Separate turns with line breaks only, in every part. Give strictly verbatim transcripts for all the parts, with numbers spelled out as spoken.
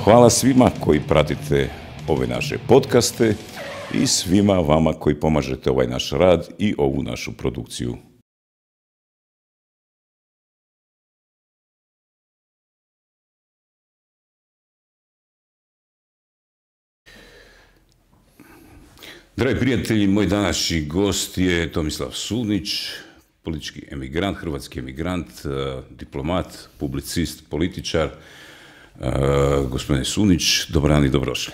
Hvala svima koji pratite ove naše podcaste i svima vama koji pomažete ovaj naš rad i ovu našu produkciju. Dragi prijatelji, moj današnji gost je Tomislav Sunić, politički emigrant, hrvatski emigrant, diplomat, publicist, političar. Gospodine Sunić, dobar dan i dobrodošli.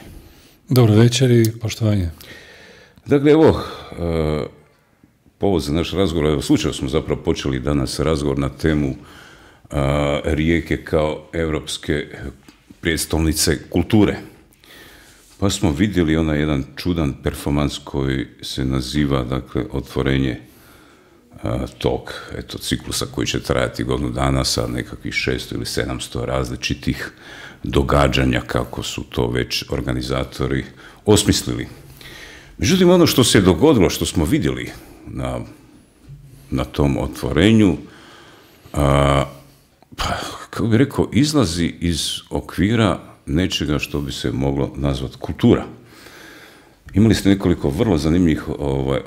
Dobro večer i poštovanje.
Dakle, evo, povod za naš razgovor, evo, slučajno smo zapravo počeli danas razgovor na temu Rijeke kao europske prijestolnice kulture. Pa smo vidjeli onaj jedan čudan performans koji se naziva, dakle, otvorenje a, tog, eto, ciklusa koji će trajati godinu dana sa nekakvih šesto ili sedamsto različitih događanja, kako su to već organizatori osmislili. Međutim, ono što se je dogodilo, što smo vidjeli na, na tom otvorenju, a, pa, kako bih rekao, izlazi iz okvira nečega što bi se moglo nazvati kultura. Imali ste nekoliko vrlo zanimljivih ovaj,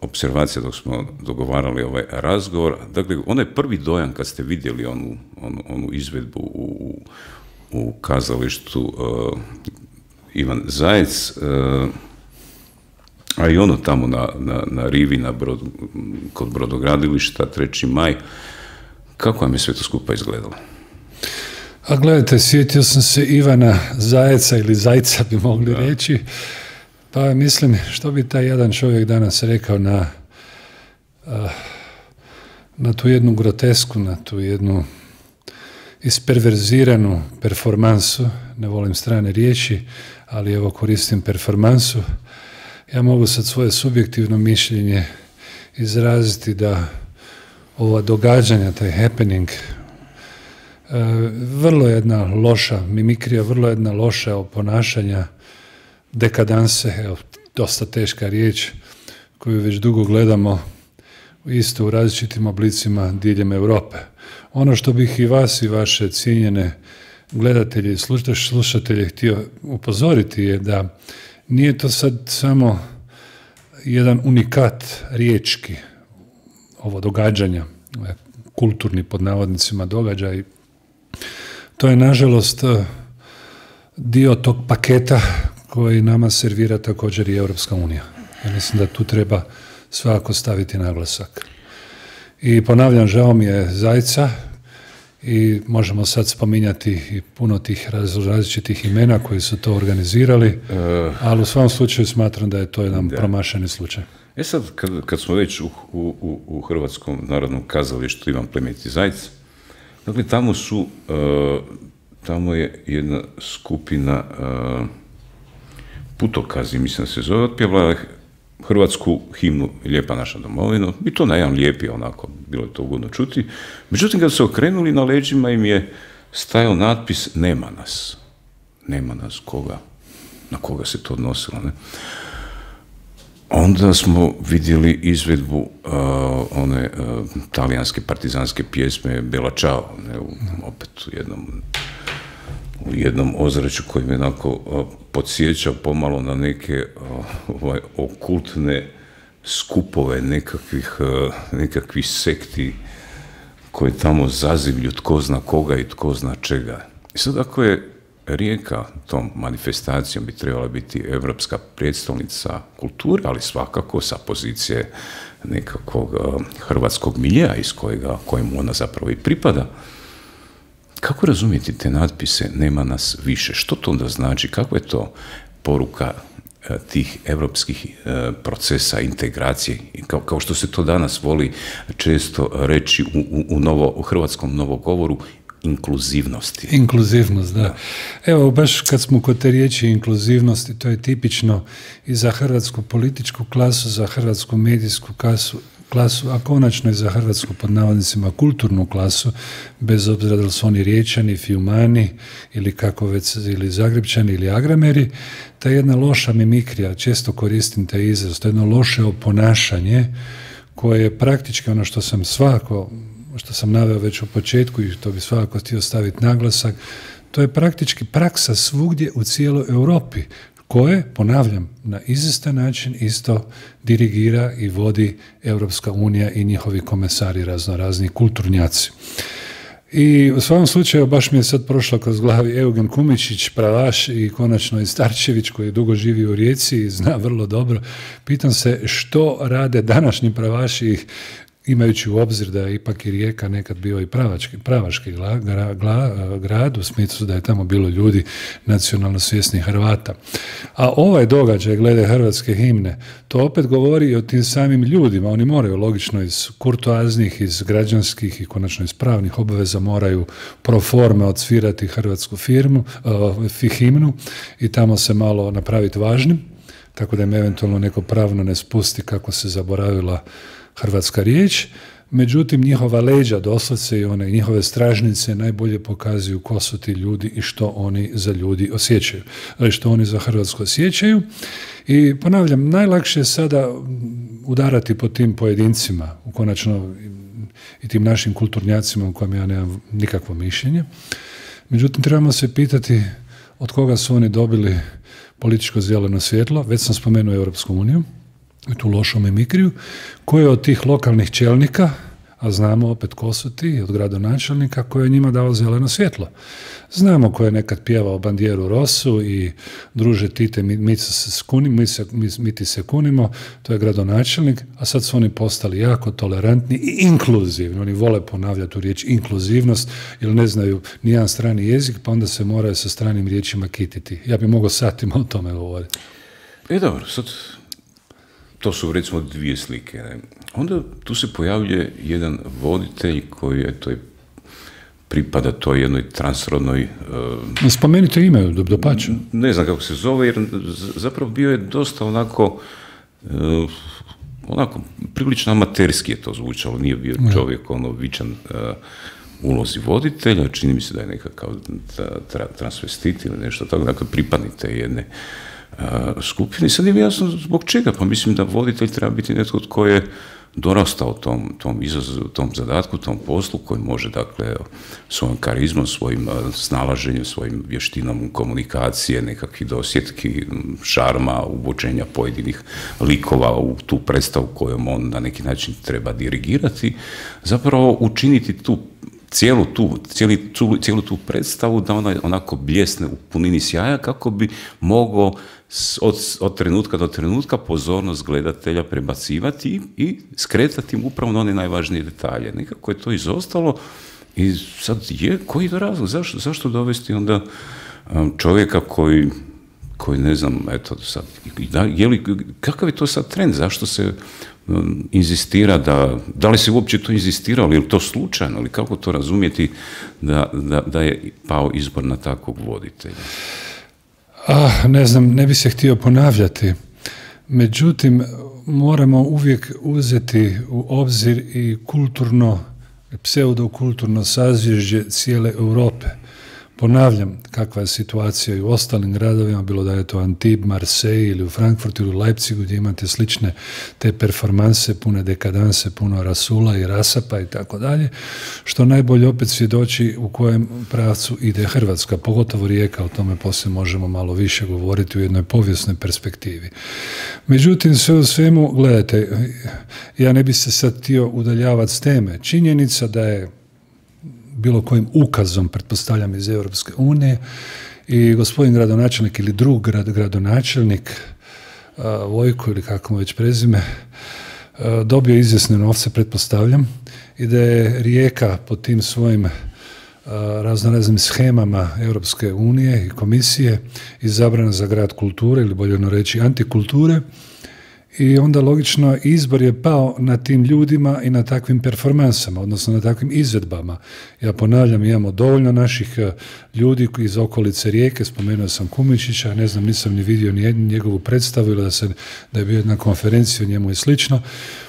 observacija dok smo dogovarali ovaj razgovor. Dakle, onaj prvi dojam kad ste vidjeli onu, onu, onu izvedbu u, u kazalištu uh, Ivan Zajec, uh, a i ono tamo na, na, na rivi na brod, kod brodogradilišta treći maj, kako vam je sve to skupa izgledalo?
A gledajte, sjetio sam se Ivana Zajeca ili Zajca bi mogli da. reći, pa mislim što bi taj jedan čovjek danas rekao na, na tu jednu grotesku, na tu jednu isperverziranu performansu, ne volim strane riječi, ali evo koristim performansu. Ja mogu sad svoje subjektivno mišljenje izraziti da ova događanja, taj happening, vrlo jedna loša mimikrija, vrlo jedna loša ponašanja, dekadanse, evo, dosta teška riječ, koju već dugo gledamo isto u različitim oblicima diljem Europe. Ono što bih i vas i vaše cijenjene gledatelje i slušatelje htio upozoriti je da nije to sad samo jedan unikat riječki, ovo događanja, kulturni pod navodnicima događaj. To je, nažalost, dio tog paketa koji nama servira također i Europska unija. Ja mislim da tu treba svakako staviti naglasak. I ponavljam, žao mi je Zajca i možemo sad spominjati i puno tih različitih imena koji su to organizirali, uh, ali u svom slučaju smatram da je to jedan da. promašeni slučaj.
E sad, kad, kad smo već u, u, u Hrvatskom narodnom kazalištu Ivan Plemeniti Zajec, dakle, tamo su, uh, tamo je jedna skupina uh, putokazi, mislim da se zove, otpjevala hrvatsku himnu Lijepa naša domovina, i to na jedan lijepi, onako, bilo je to ugodno čuti. Međutim, kad se okrenuli, na leđima im je stajao natpis nema nas. Nema nas, koga? Na koga se to odnosilo, ne? Onda smo vidjeli izvedbu uh, one uh, talijanske partizanske pjesme Bella Ciao, ne, u, opet u jednom, u jednom ozračju koji me onako uh, podsjeća pomalo na neke uh, ovaj, okultne skupove nekakvih, uh, nekakvih sekti koji tamo zazivlju tko zna koga i tko zna čega. I sad ako je Rijeka tom manifestacijom bi trebala biti europska prijestolnica kulture, ali svakako sa pozicije nekakvog uh, hrvatskog miljeja iz kojega, kojemu ona zapravo i pripada. Kako razumijeti te natpise nema nas više? Što to onda znači? Kakva je to poruka uh, tih europskih uh, procesa integracije? Kao, kao što se to danas voli često reći u, u, u, novo, u hrvatskom novogovoru, inkluzivnosti.
Inkluzivnost, da. da. Evo, baš kad smo kod te riječi inkluzivnosti, to je tipično i za hrvatsku političku klasu, za hrvatsku medijsku klasu, klasu, a konačno i za hrvatsku pod navodnicima kulturnu klasu, bez obzira da li su oni Riječani, Fiumani ili kako već, ili Zagrebčani ili Agrameri, ta jedna loša mimikrija, često koristim taj izraz, to je jedno loše oponašanje koje je praktički ono što sam svako što sam naveo već u početku i to bi svakako htio staviti naglasak, To je praktički praksa svugdje u cijeloj Europi, koje, ponavljam, na izvjestan način isto dirigira i vodi Europska unija i njihovi komesari, razno razni kulturnjaci. I u svakom slučaju baš mi je sad prošlo kroz glavi Eugen Kumičić, pravaš, i konačno i Starčević koji dugo živi u Rijeci i zna vrlo dobro. Pitam se što rade današnji pravaši, imajući u obzir da je ipak i Rijeka nekad bio i pravački, pravaški gla, gra, gla, grad, u smislu da je tamo bilo ljudi nacionalno svjesnih Hrvata. A ovaj događaj glede hrvatske himne, to opet govori i o tim samim ljudima. Oni moraju logično iz kurtoaznih, iz građanskih i konačno iz pravnih obaveza moraju pro forme odsvirati hrvatsku firmu, uh, himnu i tamo se malo napraviti važnim, tako da im eventualno neko pravno ne spusti kako se zaboravila hrvatska riječ. Međutim, njihova leđa, doslovce i one njihove stražnice najbolje pokazuju ko su ti ljudi i što oni za ljudi osjećaju, ali što oni za Hrvatsku osjećaju. I ponavljam, najlakše je sada udarati po tim pojedincima, u konačno i tim našim kulturnjacima u kojem ja nemam nikakvo mišljenje. Međutim, trebamo se pitati od koga su oni dobili političko zeleno svjetlo. Već sam spomenuo Europsku uniju, tu lošu mimikriju, koje od tih lokalnih čelnika, a znamo opet ko su ti, od gradonačelnika, koji je njima dao zeleno svjetlo. Znamo ko je nekad pjevao Bandjeru Rosu i druže Tite, mi, mi, se skunimo, mi, se, mi, mi ti se kunimo, to je gradonačelnik, a sad su oni postali jako tolerantni i inkluzivni. Oni vole ponavljati tu riječ inkluzivnost, jer ne znaju nijedan strani jezik, pa onda se moraju sa stranim riječima kititi. Ja bih mogao satima o tome govoriti.
E dobro, sad to su recimo dvije slike. Ne? Onda tu se pojavljuje jedan voditelj koji je to pripada toj jednoj transrodnoj...
Uh, Spomenite ime, dopače.
Ne znam kako se zove, jer zapravo bio je dosta onako, uh, onako prilično amaterski je to zvučalo, nije bio čovjek ono vičan uh, ulozi voditelja, čini mi se da je nekakav tra, transvestit ili nešto tako, dakle pripadnik te jedne skupini. Sad nije jasno zbog čega, pa mislim da voditelj treba biti netko tko je dorastao tom, tom izazovu, tom zadatku, tom poslu, koji može, dakle, svojom karizmom, svojim snalaženjem, svojim vještinom komunikacije, nekakvih dosjetki, šarma, uvođenja pojedinih likova u tu predstavu kojom on na neki način treba dirigirati, zapravo učiniti tu cijelu tu, cijeli, cijelu tu predstavu da ona onako bljesne u punini sjaja kako bi mogao od, od trenutka do trenutka pozornost gledatelja prebacivati i, i skretati im upravo na one najvažnije detalje. Nekako je to izostalo i sad je, koji je razlog? Zašto, zašto dovesti onda um, čovjeka koji, koji ne znam, eto sad, da, je li, kakav je to sad trend? Zašto se um, inzistira da, da li se uopće to inzistiralo, je li to slučajno, ili kako to razumjeti da, da, da je pao izbor na takvog voditelja?
Ah, ne znam, ne bi se htio ponavljati. Međutim, moramo uvijek uzeti u obzir i kulturno, pseudokulturno sazvježđe cijele Europe. Ponavljam, kakva je situacija i u ostalim gradovima, bilo da je to Antibes, Marseille ili u Frankfurtu ili u Leipzigu, gdje imate slične te performanse, pune dekadanse, puno rasula i rasapa i tako dalje, što najbolje opet svjedoči u kojem pravcu ide Hrvatska, pogotovo Rijeka, o tome poslije možemo malo više govoriti u jednoj povijesnoj perspektivi. Međutim, sve u svemu, gledajte, ja ne bi se sad htio udaljavati s teme. Činjenica da je bilo kojim ukazom, pretpostavljam iz Europske unije, i gospodin gradonačelnik ili drug grad, gradonačelnik, uh, Vojko ili kako mu već prezime, uh, dobio izvjesne novce, pretpostavljam, i da je Rijeka po tim svojim uh, raznoraznim shemama Europske unije i komisije izabrana za grad kulture, ili bolje reći antikulture, i onda logično izbor je pao na tim ljudima i na takvim performansama, odnosno na takvim izvedbama. Ja ponavljam, imamo dovoljno naših ljudi iz okolice Rijeke, spomenuo sam Kumičića, ne znam, nisam ni vidio ni jednu njegovu predstavu ili da, se, da je bio jedna konferencija o njemu i slično.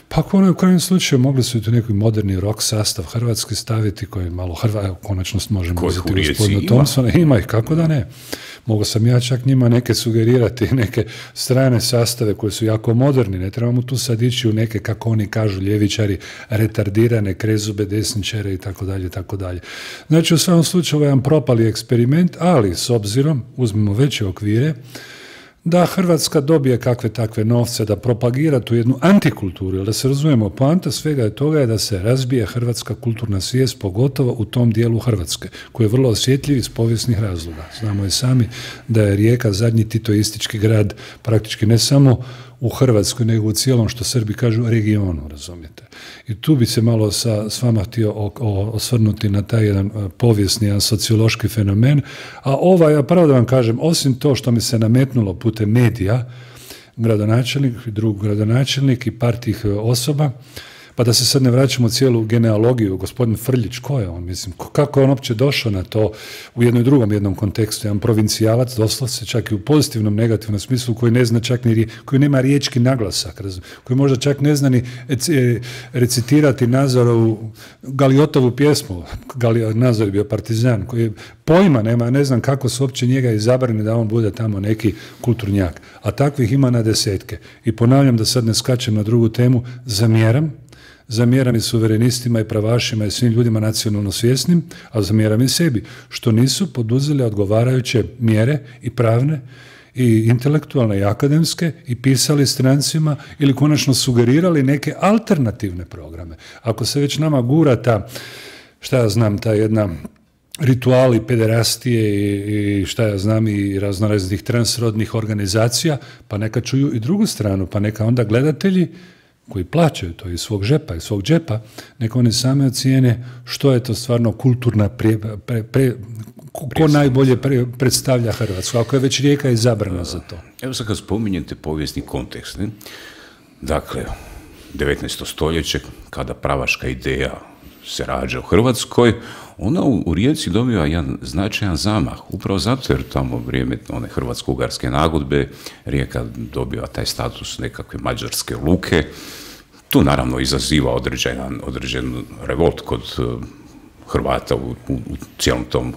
Pa ako ono u krajem slučaju mogli su i tu neki moderni rock sastav Hrvatski staviti koji malo Hrva, evo, konačno možemo uzeti gospodina Thompsona, ima ih, kako da ne. Mogu sam ja čak njima neke sugerirati, neke strane sastave koje su jako moderni, ne trebamo tu sad ići u neke, kako oni kažu, ljevičari, retardirane, krezube, desničare i tako dalje, tako dalje. Znači, u svakom slučaju jedan propali eksperiment, ali s obzirom, uzmimo veće okvire, da Hrvatska dobije kakve takve novce, da propagira tu jednu antikulturu, jer da se razumijemo, poanta svega je toga je da se razbije hrvatska kulturna svijest, pogotovo u tom dijelu Hrvatske, koji je vrlo osjetljiv iz povijesnih razloga. Znamo i sami da je Rijeka zadnji titoistički grad, praktički ne samo u Hrvatskoj, nego u cijelom, što Srbi kažu, regionu, razumijete. I tu bi se malo sa, s vama htio o, o, osvrnuti na taj jedan povijesni, jedan sociološki fenomen, a ovaj, ja pravo da vam kažem, osim to što mi se nametnulo putem medija, gradonačelnik, drug gradonačelnik i par tih osoba, pa da se sad ne vraćamo u cijelu genealogiju, gospodin Frljić, ko je on, mislim, kako je on uopće došao na to u jednom drugom jednom kontekstu, jedan provincijalac, doslovce, čak i u pozitivnom, negativnom smislu, koji ne zna čak ni, koji nema riječki naglasak, koji možda čak ne zna ni recitirati Nazorovu, Galiotovu pjesmu, Nazor je bio partizan, koji je pojma nema, ne znam kako su uopće njega izabrani da on bude tamo neki kulturnjak, a takvih ima na desetke. I ponavljam, da sad ne skačem na drugu temu, zamjeram, zamjeram i suverenistima i pravašima i svim ljudima nacionalno svjesnim, a zamjeram i sebi, što nisu poduzeli odgovarajuće mjere i pravne i intelektualne i akademske i pisali strancima ili konačno sugerirali neke alternativne programe. Ako se već nama gura ta, šta ja znam, ta jedna rituali pederastije i, i šta ja znam i raznoraznih transrodnih organizacija, pa neka čuju i drugu stranu, pa neka onda gledatelji koji plaćaju to iz svog žepa, iz svog džepa, neka oni same ocijene što je to stvarno kulturna pre, pre, pre, ko, ko najbolje pre, predstavlja Hrvatsku, ako je već Rijeka izabrana za to.
Evo sad kad spominjete povijesni kontekst, ne? Dakle, devetnaesto stoljeće, kada pravaška ideja se rađa u Hrvatskoj, ona u, u Rijeci dobiva jedan značajan zamah, upravo zato jer tamo vrijeme one hrvatsko-ugarske nagodbe, Rijeka dobiva taj status nekakve mađarske luke. Tu naravno izaziva određen, određen revolt kod uh, Hrvata u, u, u cijelom tom uh,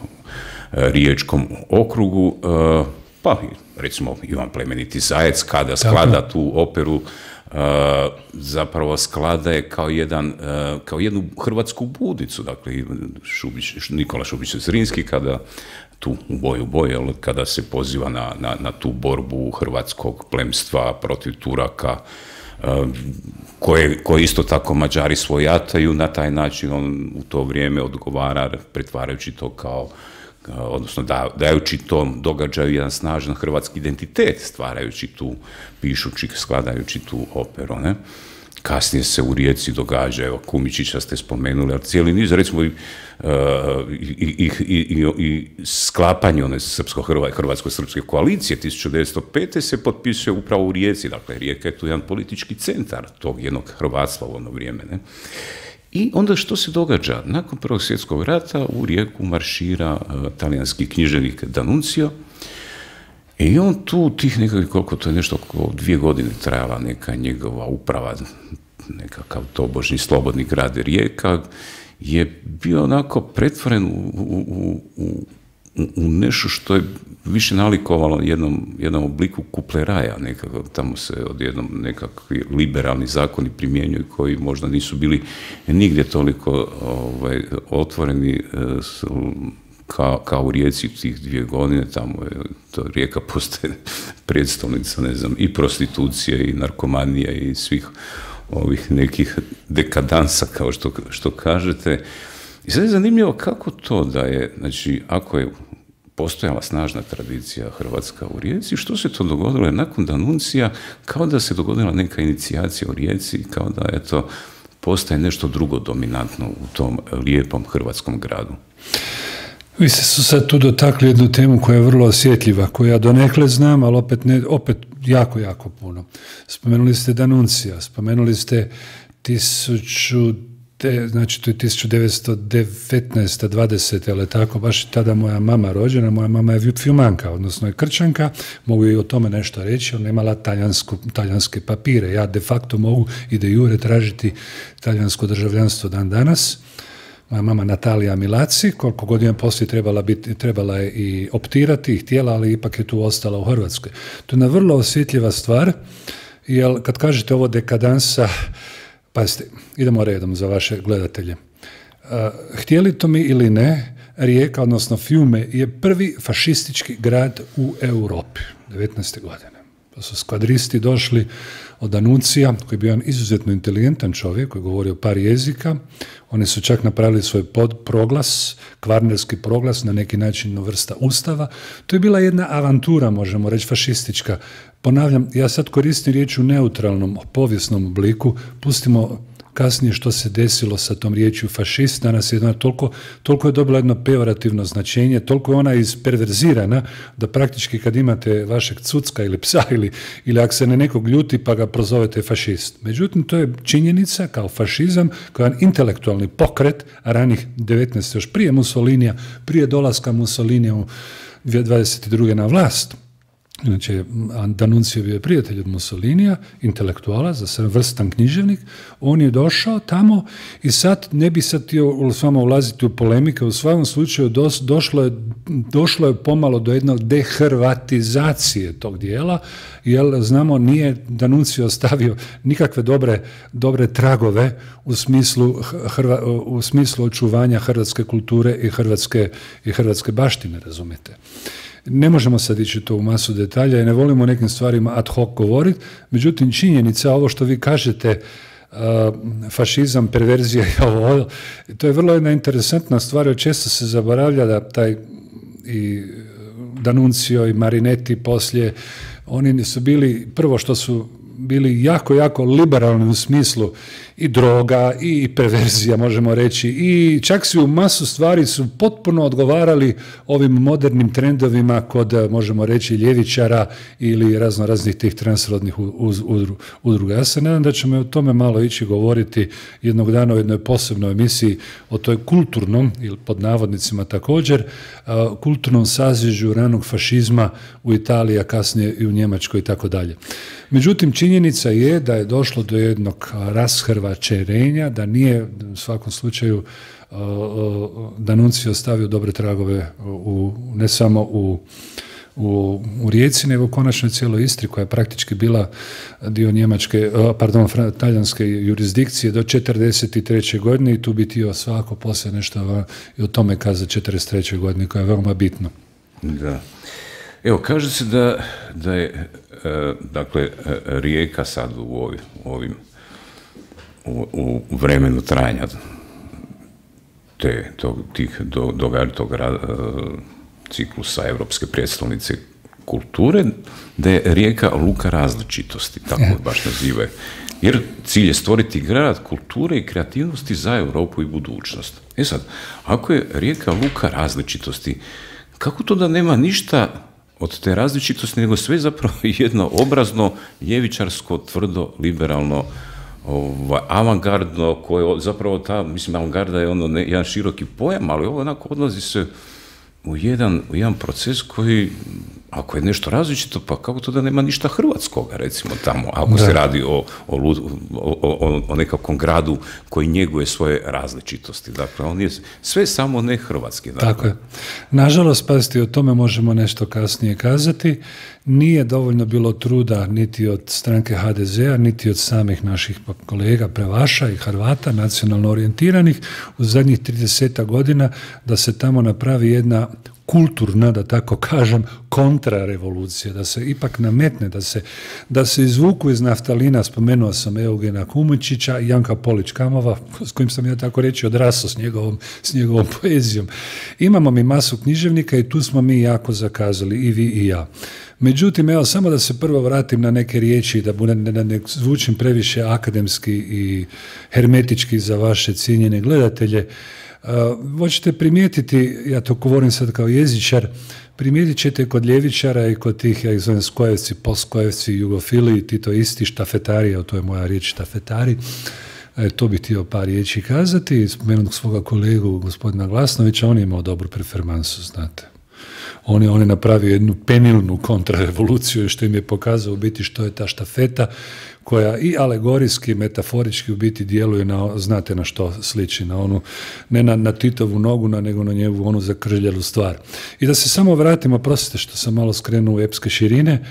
riječkom okrugu, uh, pa recimo Ivan Plemeniti Zajec kada sklada tu operu, Uh, zapravo sklada je kao, jedan, uh, kao jednu hrvatsku budicu, dakle Šubić, Nikola Šubić-Zrinski kada tu u boju u boju, kada se poziva na, na, na tu borbu hrvatskog plemstva protiv Turaka, uh, koje, koje isto tako Mađari svojataju, na taj način on u to vrijeme odgovara, pretvarajući to kao odnosno da, dajući tom događaju jedan snažan hrvatski identitet, stvarajući tu, pišući, skladajući tu operu, ne? Kasnije se u Rijeci događa, evo, Kumičića ste spomenuli, ali cijeli niz, recimo, i, i, i, i, i sklapanje one srpsko-hrvatsko-srpske koalicije tisuću devetsto pete se potpisuje upravo u Rijeci, dakle, Rijeka je tu jedan politički centar tog jednog hrvatstva u ono vrijeme, ne? I onda što se događa? Nakon Prvog svjetskog rata u Rijeku maršira uh, talijanski književnik D'Annunzio i on tu tih nekakvih, koliko to je nešto, oko dvije godine trajala neka njegova uprava, nekakav tobožni slobodni grad Rijeka, je bio onako pretvoren u, u, u, u, u nešto što je više nalikovalo jednom, jednom obliku kupleraja, nekako, tamo se odjednom nekakvi liberalni zakoni primjenjuju koji možda nisu bili nigdje toliko ovaj, otvoreni kao, kao u Rijeci tih dvije godine, tamo je to Rijeka postaje predstavnica, ne znam, i prostitucije i narkomanije i svih ovih nekih dekadansa, kao što, što kažete. I sad je zanimljivo kako to da je, znači, ako je postojala snažna tradicija hrvatska u Rijeci, što se to dogodilo nakon D'Annunzia, kao da se dogodila neka inicijacija u Rijeci, kao da, eto, postaje nešto drugo dominantno u tom lijepom hrvatskom gradu.
Vi ste su sad tu dotakli jednu temu koja je vrlo osjetljiva, koju ja donekle znam, ali opet, ne, opet jako, jako puno. Spomenuli ste D'Annunzia, spomenuli ste tisuću Te, znači to je tisuću devetsto devetnaeste dvadesete ali tako, baš tada moja mama rođena, moja mama je Fiumanka, odnosno je Krčanka, mogu i o tome nešto reći, ona je imala talijanske papire, ja de facto mogu i de jure tražiti talijansko državljanstvo dan danas, moja mama Natalija Milaci, koliko godina poslije trebala, biti, trebala je i optirati i htjela, ali ipak je tu ostala u Hrvatskoj. To je jedna vrlo osjetljiva stvar, jer kad kažete ovo dekadansa, pazite, idemo redom za vaše gledatelje. Uh, htjeli to mi ili ne, Rijeka, odnosno Fiume, je prvi fašistički grad u Europi, devetnaeste godine. Pa su skvadristi došli od Danucija, koji je bio jedan izuzetno inteligentan čovjek, koji je govorio par jezika. Oni su čak napravili svoj pod proglas, kvarnerski proglas, na neki način vrsta ustava. To je bila jedna avantura, možemo reći, fašistička. Ponavljam, ja sad koristim riječ u neutralnom, povijesnom obliku, pustimo kasnije što se desilo sa tom riječju fašist, danas je toliko, toliko je dobila jedno pejorativno značenje, toliko je ona isperverzirana da praktički kad imate vašeg cucka ili psa ili, ili ako se ne nekog ljuti pa ga prozovete fašist. Međutim, to je činjenica kao fašizam, kao jedan intelektualni pokret ranih devetnaeste još prije Mussolinija, prije dolaska Mussolinija u dvadeset druge na vlast. Inače, D'Annunzio bio je prijatelj od Mussolinija, intelektuala, za sve vrstan književnik. On je došao tamo i sad ne bi sad htio s vama ulaziti u polemike, u svakom slučaju dos, došlo, je, došlo je pomalo do jednog dehrvatizacije tog dijela, jer znamo nije D'Annunzio ostavio nikakve dobre, dobre tragove u smislu, hrva, u smislu očuvanja hrvatske kulture i hrvatske, i hrvatske baštine, razumijete. Ne možemo sad ići to u masu detalja i ne volimo o nekim stvarima ad hoc govoriti, međutim činjenica, ovo što vi kažete, uh, fašizam, perverzija i ovo, to je vrlo jedna interesantna stvar, jer često se zaboravlja da taj i D'Annunzio i Marinetti poslije, oni su bili, prvo što su bili jako, jako liberalni u smislu i droga i perverzija, možemo reći, i čak si u masu stvari su potpuno odgovarali ovim modernim trendovima kod, možemo reći, ljevičara ili razno raznih tih transrodnih udruga. Ja se nadam da ćemo o tome malo ići govoriti jednog dana u jednoj posebnoj emisiji o toj kulturnom, ili pod navodnicima također, kulturnom sazvježu ranog fašizma u Italiji, a kasnije i u Njemačkoj i tako dalje. Međutim, činjenica je da je došlo do jednog rashrvačenja, da nije u svakom slučaju uh, D'Annunzio ostavio dobre tragove u, ne samo u, u, u Rijeci, nego u konačnoj cijeloj Istri, koja je praktički bila dio njemačke, uh, pardon, talijanske jurisdikcije do četrdeset treće godine i tu bi htio svako poslije nešto i o tome kazati četrdeset treće godine, koja je veoma bitno.
Da. Evo, kaže se da, da je, e, dakle, Rijeka sad u ovim, ovim u, u vremenu trajanja te, tog, tih do, događa, tog e, ciklusa Europske prijestolnice kulture, da je Rijeka luka različitosti, tako je baš nazivaju. Jer cilj je stvoriti grad kulture i kreativnosti za Europu i budućnost. E sad, ako je Rijeka luka različitosti, kako to da nema ništa od te različitosti, nego sve zapravo jedno obrazno, ljevičarsko, tvrdo, liberalno, ovaj, avangardno, koje zapravo ta, mislim, avangarda je ono ne, jedan široki pojam, ali ovo onako odlazi se u jedan, u jedan proces koji, ako je nešto različito, pa kako to da nema ništa hrvatskoga, recimo, tamo, ako da. se radi o, o, o, o, o nekakvom gradu koji njeguje svoje različitosti. Dakle, on je sve samo ne hrvatski. Dakle.
Tako je. Nažalost, pazite, o tome možemo nešto kasnije kazati. Nije dovoljno bilo truda niti od stranke ha de zea, niti od samih naših kolega Prevaša i Hrvata, nacionalno orijentiranih, u zadnjih trideset godina da se tamo napravi jedna kulturna, da tako kažem, kontrarevolucija, da se ipak nametne, da se, da se izvuku iz naftalina, spomenuo sam Eugena Kumičića i Janka Polić-Kamova, s kojim sam ja tako reći odrasao s njegovom, s njegovom poezijom. Imamo mi masu književnika i tu smo mi jako zakazali, i vi i ja. Međutim, evo, samo da se prvo vratim na neke riječi, da bude, ne, ne zvučim previše akademski i hermetički za vaše cijenjene gledatelje. Uh, hoćete primijetiti, ja to govorim sad kao jezičar, primijetit ćete kod ljevičara i kod tih, ja ih zovem skojevci, postkojevci, jugofili, ti to isti štafetari, to je moja riječ štafetari, e, to bih htio par riječi kazati, spomenut svoga kolegu gospodina Glasnovića, on je imao dobru performansu, znate. On je, on je napravio jednu penilnu kontrarevoluciju što im je pokazao u biti što je ta štafeta koja i alegorijski i metaforički u biti djeluje na, znate na što sliči, na onu, ne na, na Titovu nogu, na, nego na njegovu onu zakržljelu stvar. I da se samo vratimo, prostite što sam malo skrenuo u epske širine,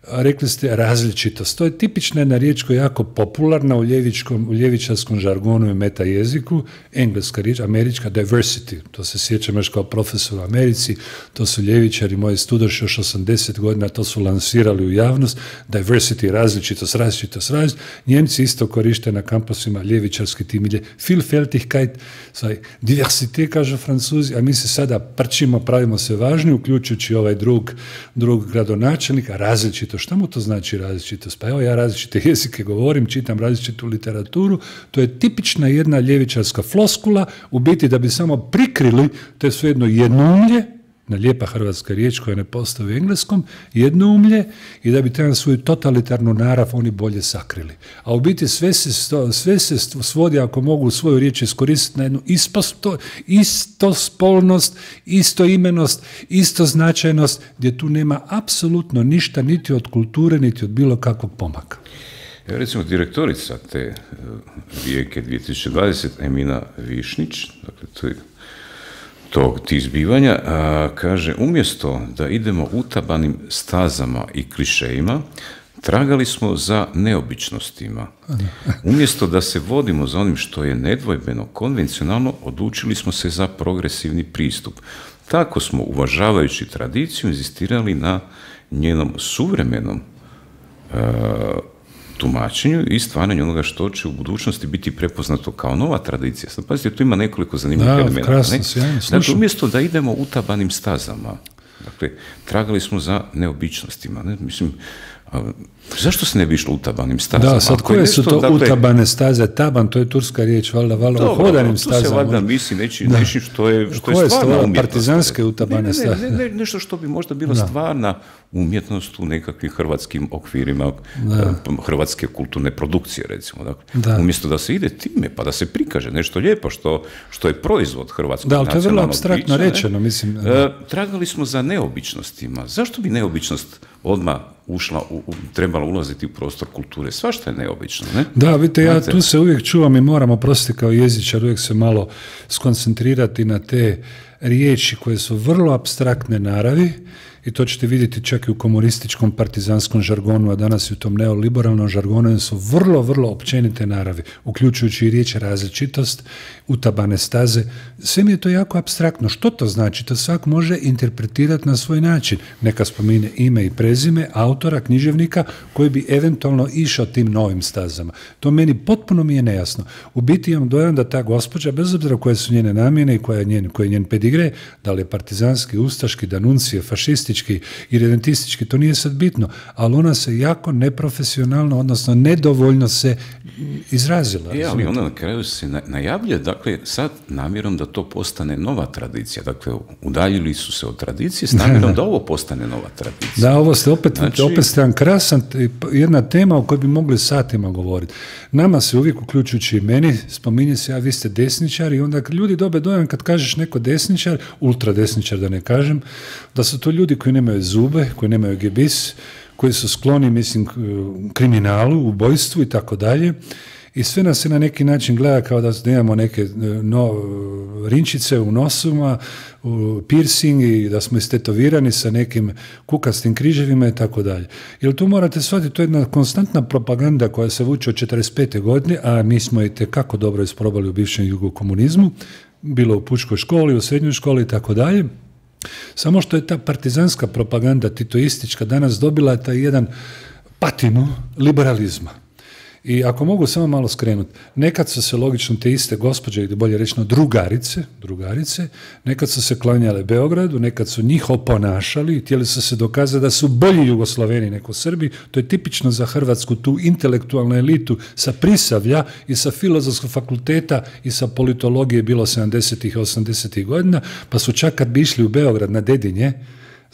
rekli ste različitost. To je tipična jedna riječ koja je jako popularna u, ljevičkom, u ljevičarskom žargonu i meta jeziku, engleska riječ, američka, diversity. To se sjećam još kao profesor u Americi, to su ljevičari, moji studoši još osamdeset godina, to su lansirali u javnost, diversity, različitost, različitost, različitost. Njemci isto koriste na kampusima ljevičarski tim, Vielfältigkeit, diversité, kažu Francuzi, a mi se sada prčimo, pravimo se važni, uključujući ovaj drug, drug gradonačelnika, različitost. Šta mu to znači različitost? Pa evo ja različite jezike govorim, čitam različitu literaturu, to je tipična jedna ljevičarska floskula, u biti da bi samo prikrili, to je sve jedno jednoumlje, na lijepa hrvatska riječ koja ne postoji u engleskom, jednoumlje, i da bi taj svoju totalitarnu narav oni bolje sakrili. A u biti sve se, sto, sve se svodi, ako mogu svoju riječ iskoristiti, na jednu isposto, istospolnost, istoimenost, istoznačajnost, gdje tu nema apsolutno ništa niti od kulture, niti od bilo kakvog pomaka.
Evo recimo direktorica te Rijeke dvije tisuće dvadesete. Emina Višnić, dakle to je tog tih zbivanja, a, kaže, umjesto da idemo utabanim stazama i klišejima, tragali smo za neobičnostima. Umjesto da se vodimo za onim što je nedvojbeno konvencionalno, odlučili smo se za progresivni pristup. Tako smo, uvažavajući tradiciju, inzistirali na njenom suvremenom a, tumačenju i stvaranju onoga što će u budućnosti biti prepoznato kao nova tradicija. Sad pazite, tu ima nekoliko zanimljivih elementa.
Krasno, ne? Sjajno,
dakle, umjesto da idemo utabanim stazama, dakle, tragali smo za neobičnostima. Ne? Mislim, a, zašto se ne bi išlo utabanim stazama?
Da, sad koje nešto, su to dakle, utabane staze? Taban, to je turska riječ, valjda, valjda, o hodanim stazama.
Tu se valjda misli neći, nečim što je, što je stvarna umjetnost.
Partizanske utabane
ne,
staze.
Ne, ne, ne, nešto što bi možda bila da. stvarna umjetnost u nekakvim hrvatskim okvirima, da. hrvatske kulturne produkcije, recimo. Dakle, da. Umjesto da se ide time, pa da se prikaže nešto lijepo što, što je proizvod hrvatskog
da,
nacionalnog bića. Da,
to je vrlo apstraktno rečeno, mislim.
E, tragali smo za neobičnostima. Zašto bi neobičnost odmah ušla, u, u, trebala ulaziti u prostor kulture? Svašta je neobično, ne?
Da, vidite, ja tu se uvijek čuvam i moram, oprostiti kao jezičar, uvijek se malo skoncentrirati na te riječi koje su vrlo apstraktne naravi, i to ćete vidjeti čak i u komunističkom partizanskom žargonu, a danas i u tom neoliberalnom žargonu, su vrlo, vrlo općenite naravi, uključujući i riječ različitost, utabane staze. Sve mi je to jako apstraktno. Što to znači? To svak može interpretirati na svoj način. Neka spomine ime i prezime autora, književnika, koji bi eventualno išao tim novim stazama. To meni potpuno mi je nejasno. U biti imam dojam da ta gospođa, bez obzira koje su njene namjene i koja je njen, koji je njen pedigre, da li je partizanski, ustaški, danuncije, fašistički i redentistički, to nije sad bitno, ali ona se jako neprofesionalno, odnosno nedovoljno se izrazila.
E, ali ona na kraju se najavlja, dakle, sad namjerom da to postane nova tradicija. Dakle, udaljili su se od tradicije s namjerom da, da ovo postane nova tradicija.
Da, ovo ste opet, znači, opet ste jedan krasan, jedna tema o kojoj bi mogli satima govoriti. Nama se uvijek, uključujući i meni, spominje se, a vi ste desničar, i onda ljudi dobe dojam kad kažeš neko desničar, ultradesničar da ne kažem, da su to ljudi koji nemaju zube, koji nemaju gebis, koji su skloni, mislim, kriminalu, ubojstvu i tako dalje. I sve nas se na neki način gleda kao da imamo neke no, rinčice u nosuma, piercing, i da smo istetovirani sa nekim kukastim križevima i tako dalje. Jer tu morate shvatiti, to je jedna konstantna propaganda koja se vuče od četrdeset pete godine, a mi smo i tekako dobro isprobali u bivšem jugokomunizmu, bilo u pučkoj školi, u srednjoj školi i tako dalje. Samo što je ta partizanska propaganda titoistička danas dobila taj jedan patinu liberalizma. I ako mogu samo malo skrenuti, nekad su se logično te iste gospođe, ili bolje rečeno drugarice, drugarice, nekad su se klanjale Beogradu, nekad su njih oponašali i htjeli su se dokazati da su bolji Jugoslaveni nego Srbi. To je tipično za Hrvatsku, tu intelektualnu elitu sa Prisavlja i sa Filozofskog fakulteta i sa politologije bilo sedamdesetih i osamdesetih godina, pa su čak kad bi išli u Beograd na Dedinje,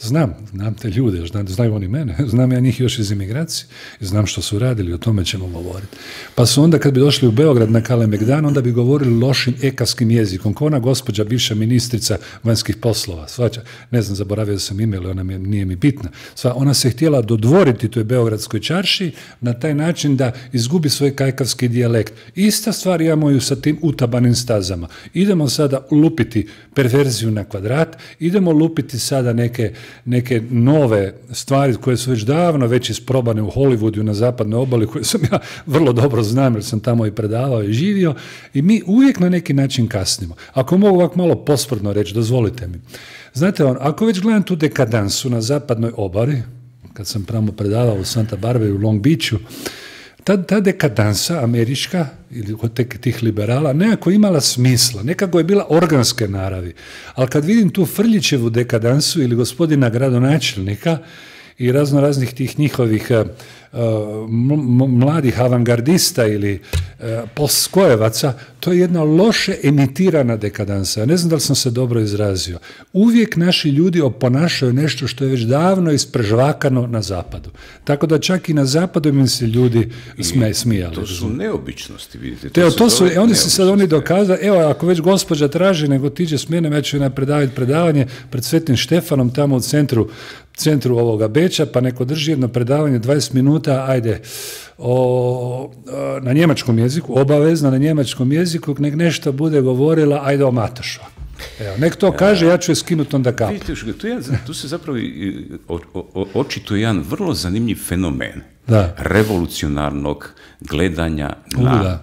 Znam, znam te ljude, znam, znaju oni mene, znam ja njih još iz imigracije, znam što su radili, o tome ćemo govoriti. Pa su onda kad bi došli u Beograd na Kalemegdan, onda bi govorili lošim ekavskim jezikom, kao ona gospođa, bivša ministrica vanjskih poslova, svača, ne znam, zaboravio da sam ime, ali ona mi, nije mi bitna. Sva, ona se htjela dodvoriti toj beogradskoj čarši na taj način da izgubi svoj kajkavski dijalekt. Ista stvar imamo ju sa tim utabanim stazama. Idemo sada lupiti perverziju na kvadrat, idemo lupiti sada neke, neke nove stvari koje su već davno već isprobane u Hollywoodu na zapadnoj obali, koje sam ja vrlo dobro znam jer sam tamo i predavao i živio, i mi uvijek na neki način kasnimo. Ako mogu ovako malo posprdno reći, dozvolite mi. Znate, on, ako već gledam tu dekadansu na zapadnoj obali, kad sam pravo predavao u Santa Barbari u Long Beachu, Ta, ta dekadansa američka ili kod tih liberala nekako imala smisla, nekako je bila organske naravi. Ali kad vidim tu Frljićevu dekadansu ili gospodina gradonačelnika i razno raznih tih njihovih uh, m- mladih avangardista ili uh, postskojevaca, to je jedna loše emitirana dekadansa. Ja ne znam da li sam se dobro izrazio. Uvijek naši ljudi oponašaju nešto što je već davno isprežvakano na zapadu. Tako da čak i na zapadu im se ljudi sme, smijali.
To su neobičnosti, vidite.
To, to su, oni se sad oni dokazali, evo, ako već gospođa traži, nego tiđe s mene, ja ću joj predaviti predavanje pred Svetim Štefanom, tamo u centru, centru ovoga Beča, pa neko drži jedno predavanje dvadeset minuta, ajde, o, na njemačkom jeziku, obavezno na njemačkom jeziku, nek nešto bude govorila, ajde o Matošu. Evo, nek to kaže, ja ću je skinuti onda kapu.
Vidite, tu, je, tu se zapravo o, o, očituje jedan vrlo zanimljiv fenomen
da.
revolucionarnog gledanja na,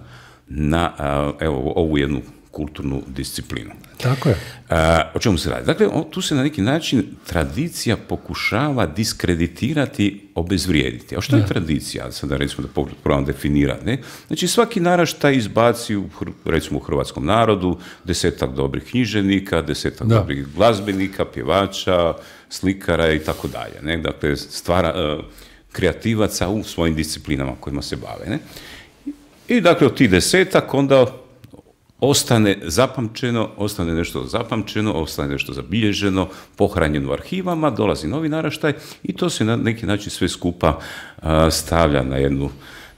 na evo, ovu jednu kulturnu disciplinu.
Tako je.
A, o čemu se radi? Dakle, o, tu se na neki način tradicija pokušava diskreditirati, obezvrijediti. A što je da. tradicija? Sada recimo da probam definirati. Ne? Znači, svaki naraštaj izbaci, u, recimo u hrvatskom narodu, desetak dobrih književnika, desetak da. dobrih glazbenika, pjevača, slikara i tako dalje. Ne? Dakle, stvara, uh, kreativaca u svojim disciplinama kojima se bave. Ne? I dakle, od tih desetak onda ostane zapamćeno, ostane nešto zapamćeno, ostane nešto zabilježeno, pohranjeno u arhivama, dolazi novi naraštaj i to se na neki način sve skupa uh, stavlja na jednu,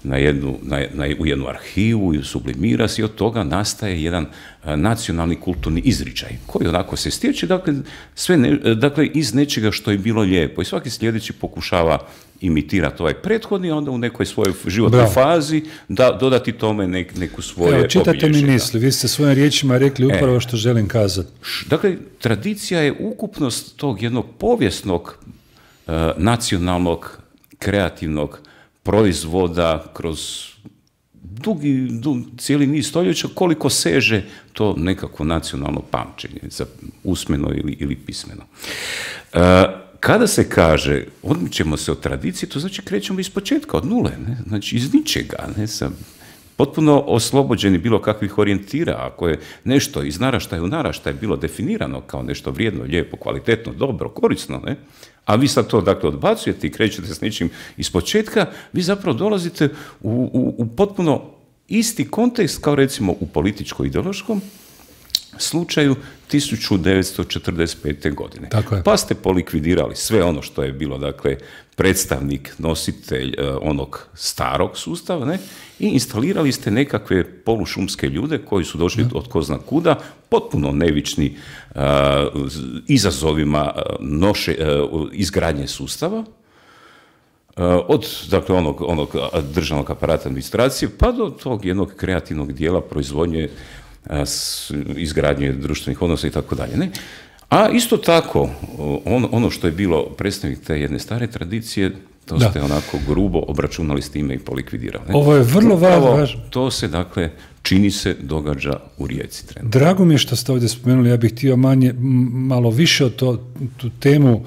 na jednu, na, na, u jednu arhivu i sublimira se i od toga nastaje jedan uh, nacionalni kulturni izričaj koji onako se stječe, dakle, sve ne, dakle, iz nečega što je bilo lijepo i svaki sljedeći pokušava imitirati ovaj prethodni, onda u nekoj svojoj životnoj Bravo. fazi da dodati tome nek, neku svoje obilježje.
Evo, čitate mi misli, vi ste svojim riječima rekli upravo e, što želim kazati.
Dakle, tradicija je ukupnost tog jednog povijesnog, uh, nacionalnog, kreativnog proizvoda kroz dugi, dug, cijeli niz stoljeća, koliko seže to nekako nacionalno pamćenje, za usmeno ili, ili pismeno. Uh, Kada se kaže, odmičemo se od tradicije, to znači krećemo iz početka, od nule, ne? Znači iz ničega, ne? Sam potpuno oslobođeni bilo kakvih orijentira, ako je nešto iz naraštaja u naraštaj bilo definirano kao nešto vrijedno, lijepo, kvalitetno, dobro, korisno, ne? A vi sad to dakle odbacujete i krećete s nečim iz početka, vi zapravo dolazite u, u, u potpuno isti kontekst kao recimo u političko-ideološkom slučaju tisuću devetsto četrdeset pete. godine. Pa ste polikvidirali sve ono što je bilo, dakle, predstavnik, nositelj uh, onog starog sustava, ne? I instalirali ste nekakve polušumske ljude koji su došli ja. od ko zna kuda, potpuno nevični uh, izazovima uh, noše, uh, izgradnje sustava, Uh, od dakle, onog, onog državnog aparata administracije pa do tog jednog kreativnog dijela proizvodnje, izgradnje društvenih odnosa i tako dalje. Ne? A isto tako, on, ono što je bilo predstavnik te jedne stare tradicije, to da. ste onako grubo obračunali s time i polikvidirali. Ne?
Ovo je vrlo važno.
To se, dakle, čini se događa u Rijeci trenutno.
Drago mi je što ste ovdje spomenuli, ja bih htio manje, malo više o to, tu temu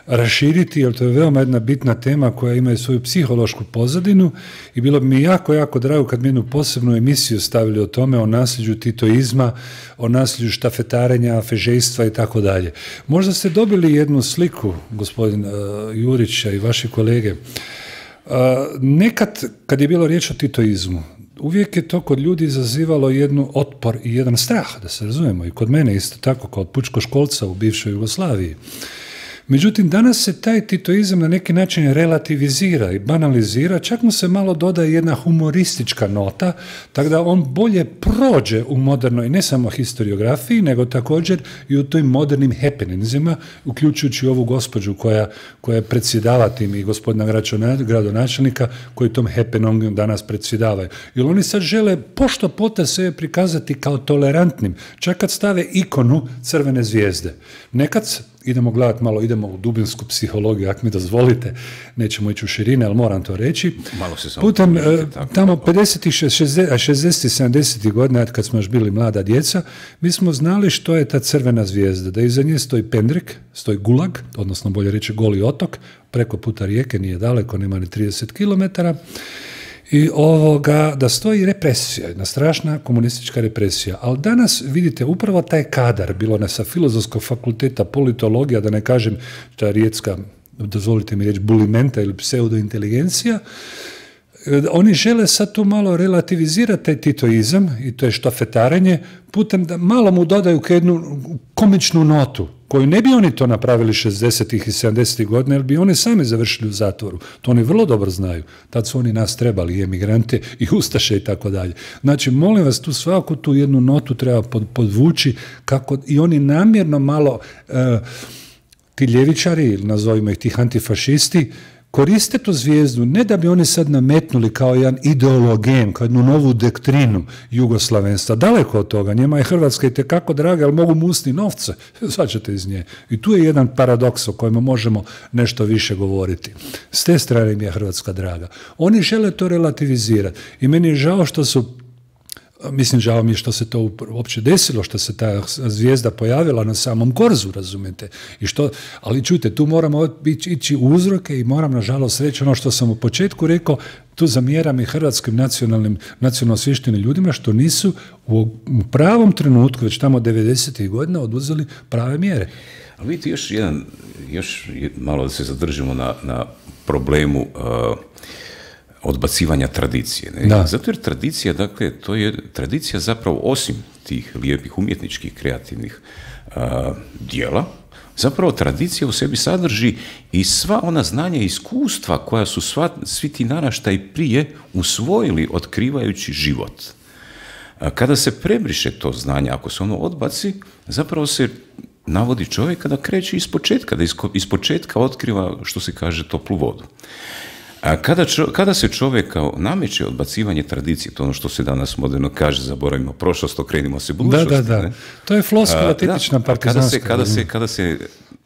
raširiti, jer to je veoma jedna bitna tema koja ima i svoju psihološku pozadinu i bilo bi mi jako, jako drago kad mi jednu posebnu emisiju stavili o tome, o nasljeđu titoizma, o nasljeđu štafetarenja, fežejstva i tako dalje. Možda ste dobili jednu sliku, gospodin uh, Jurića i vaši kolege. Uh, nekad, kad je bilo riječ o titoizmu, uvijek je to kod ljudi izazivalo jednu otpor i jedan strah, da se razumijemo, i kod mene isto tako, kao pučkoškolca u bivšoj Jugoslaviji. Međutim, danas se taj titoizam na neki način relativizira i banalizira, čak mu se malo dodaje jedna humoristička nota, tako da on bolje prođe u modernoj, ne samo historiografiji, nego također i u tim modernim happeningsima, uključujući ovu gospođu koja, koja predsjedava tim i gospodina gradonačelnika koji tom happeningu danas predsjedavaju. Jer oni sad žele pošto pota sebe prikazati kao tolerantnim, čak kad stave ikonu crvene zvijezde. Nekad, idemo gledati malo, idemo u dubinsku psihologiju, ako mi dozvolite, nećemo ići u širine, ali moram to reći.
Malo se samo
Putem,
pomišljate, tako,
tamo
tako.
pedesetih, šezdesetih, sedamdesetih godina, kad smo još bili mlada djeca, mi smo znali što je ta crvena zvijezda, da iza nje stoji pendrek, stoji gulag, odnosno bolje reći Goli otok, preko puta rijeke, nije daleko, nema ni trideset kilometara, i ovoga, da stoji represija, jedna strašna komunistička represija. Ali danas, vidite, upravo taj kadar, bilo ne sa Filozofskog fakulteta, politologija, da ne kažem ta rijetska, dozvolite mi reći, bulimenta ili pseudointeligencija, oni žele sad tu malo relativizirati taj titoizam i to je štafetarenje putem da malo mu dodaju jednu komičnu notu koju ne bi oni to napravili šezdesetih i sedamdesetih godina, jer bi oni sami završili u zatvoru. To oni vrlo dobro znaju. Tad su oni nas trebali, i emigrante, i ustaše i tako dalje. Znači, molim vas, tu svaku tu jednu notu treba podvući kako i oni namjerno malo, uh, ti ljevičari, ili nazovimo ih tih antifašisti, koriste tu zvijezdu, ne da bi oni sad nametnuli kao jedan ideologen, kao jednu novu doktrinu jugoslavenstva. Daleko od toga, njima je Hrvatska itekako draga, ali mogu musti novce, svačate iz nje. I tu je jedan paradoks o kojem možemo nešto više govoriti. S te strane mi je Hrvatska draga. Oni žele to relativizirati i meni je žao što su, mislim, žao mi je što se to uopće desilo, što se ta zvijezda pojavila na samom korzu, razumijete. I što, ali čujte, tu moramo ići u uzroke i moram, nažalost, reći ono što sam u početku rekao, tu zamjeram i hrvatskim nacionalnim, nacionalno osviještenim ljudima što nisu u pravom trenutku, već tamo devedesetih godina, oduzeli prave mjere.
Ali vidite, još jedan, još malo da se zadržimo na, na problemu uh, odbacivanja tradicije. Ne?
Da.
Zato jer tradicija, dakle, to je tradicija zapravo osim tih lijepih umjetničkih kreativnih a, dijela, zapravo tradicija u sebi sadrži i sva ona znanja i iskustva koja su sva, svi ti naraštaji prije usvojili otkrivajući život. A kada se prebriše to znanje, ako se ono odbaci, zapravo se navodi čovjeka da kreće ispočetka, da ispočetka otkriva, što se kaže, toplu vodu. A kada, čo, kada se čovjeka nameće odbacivanje tradicije, to ono što se danas moderno kaže, zaboravimo prošlost, okrenimo se budućnosti.
Da, da, da.
Ne?
To je floskula tipična partizanska.
Kada se, kada se, kada se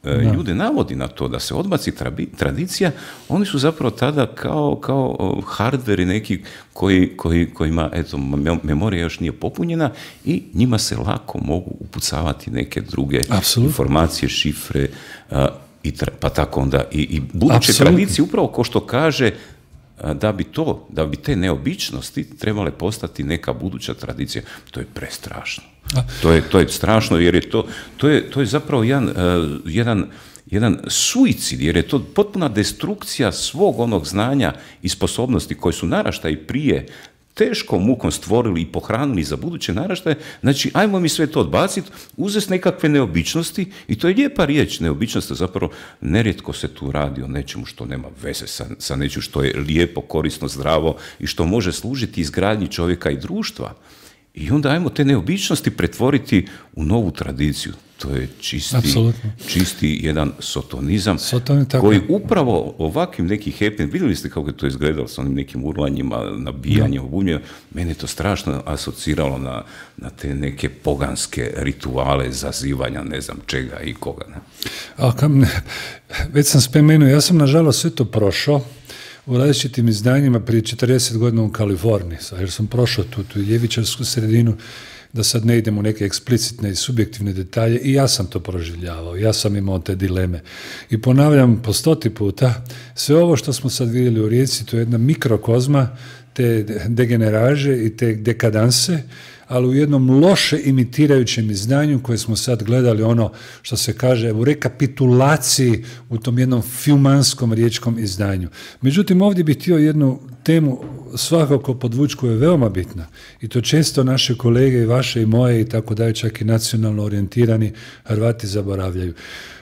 da. ljude navodi na to da se odbaci trabi, tradicija, oni su zapravo tada kao, kao hardveri neki koji, koji, kojima eto, memorija još nije popunjena i njima se lako mogu upucavati neke druge Absolutno. informacije, šifre, a, I tra, pa tako onda i, i buduće Absolutno. tradicije, upravo ko što kaže, da bi to, da bi te neobičnosti trebale postati neka buduća tradicija, to je prestrašno. To je, to je strašno, jer je to, to je, to je zapravo jedan, uh, jedan, jedan suicid, jer je to potpuna destrukcija svog onog znanja i sposobnosti koje su naraštaji prije teškom mukom stvorili i pohranili za buduće naraštaje, znači ajmo mi sve to odbaciti, uzeti nekakve neobičnosti i to je lijepa riječ, neobičnost, zapravo nerijetko se tu radi o nečemu što nema veze sa, sa nečim što je lijepo, korisno, zdravo i što može služiti izgradnji čovjeka i društva. I onda ajmo te neobičnosti pretvoriti u novu tradiciju. To je čisti, čisti jedan sotonizam koji upravo ovakvim nekim happening, vidjeli ste kako je to izgledalo s onim nekim urlanjima, nabijanjem, obunjima, mene je to strašno asociralo na, na te neke poganske rituale zazivanja, ne znam čega i koga. Ne?
A, kam, već sam spomenuo, ja sam nažalost sve to prošao u različitim izdanjima prije četrdeset godina u Kaliforniji, jer sam prošao tu, tu ljevičarsku sredinu, da sad ne idemo u neke eksplicitne i subjektivne detalje, i ja sam to proživljavao, ja sam imao te dileme. I ponavljam po stoti puta, sve ovo što smo sad vidjeli u Rijeci, to je jedna mikrokozma te degeneraže i te dekadanse, ali u jednom loše imitirajućem izdanju koje smo sad gledali, ono što se kaže u rekapitulaciji u tom jednom filmanskom riječkom izdanju. Međutim, ovdje bih htio jednu temu svakako podvući koja je veoma bitna i to često naše kolege i vaše i moje i tako dalje, čak i nacionalno orijentirani Hrvati zaboravljaju.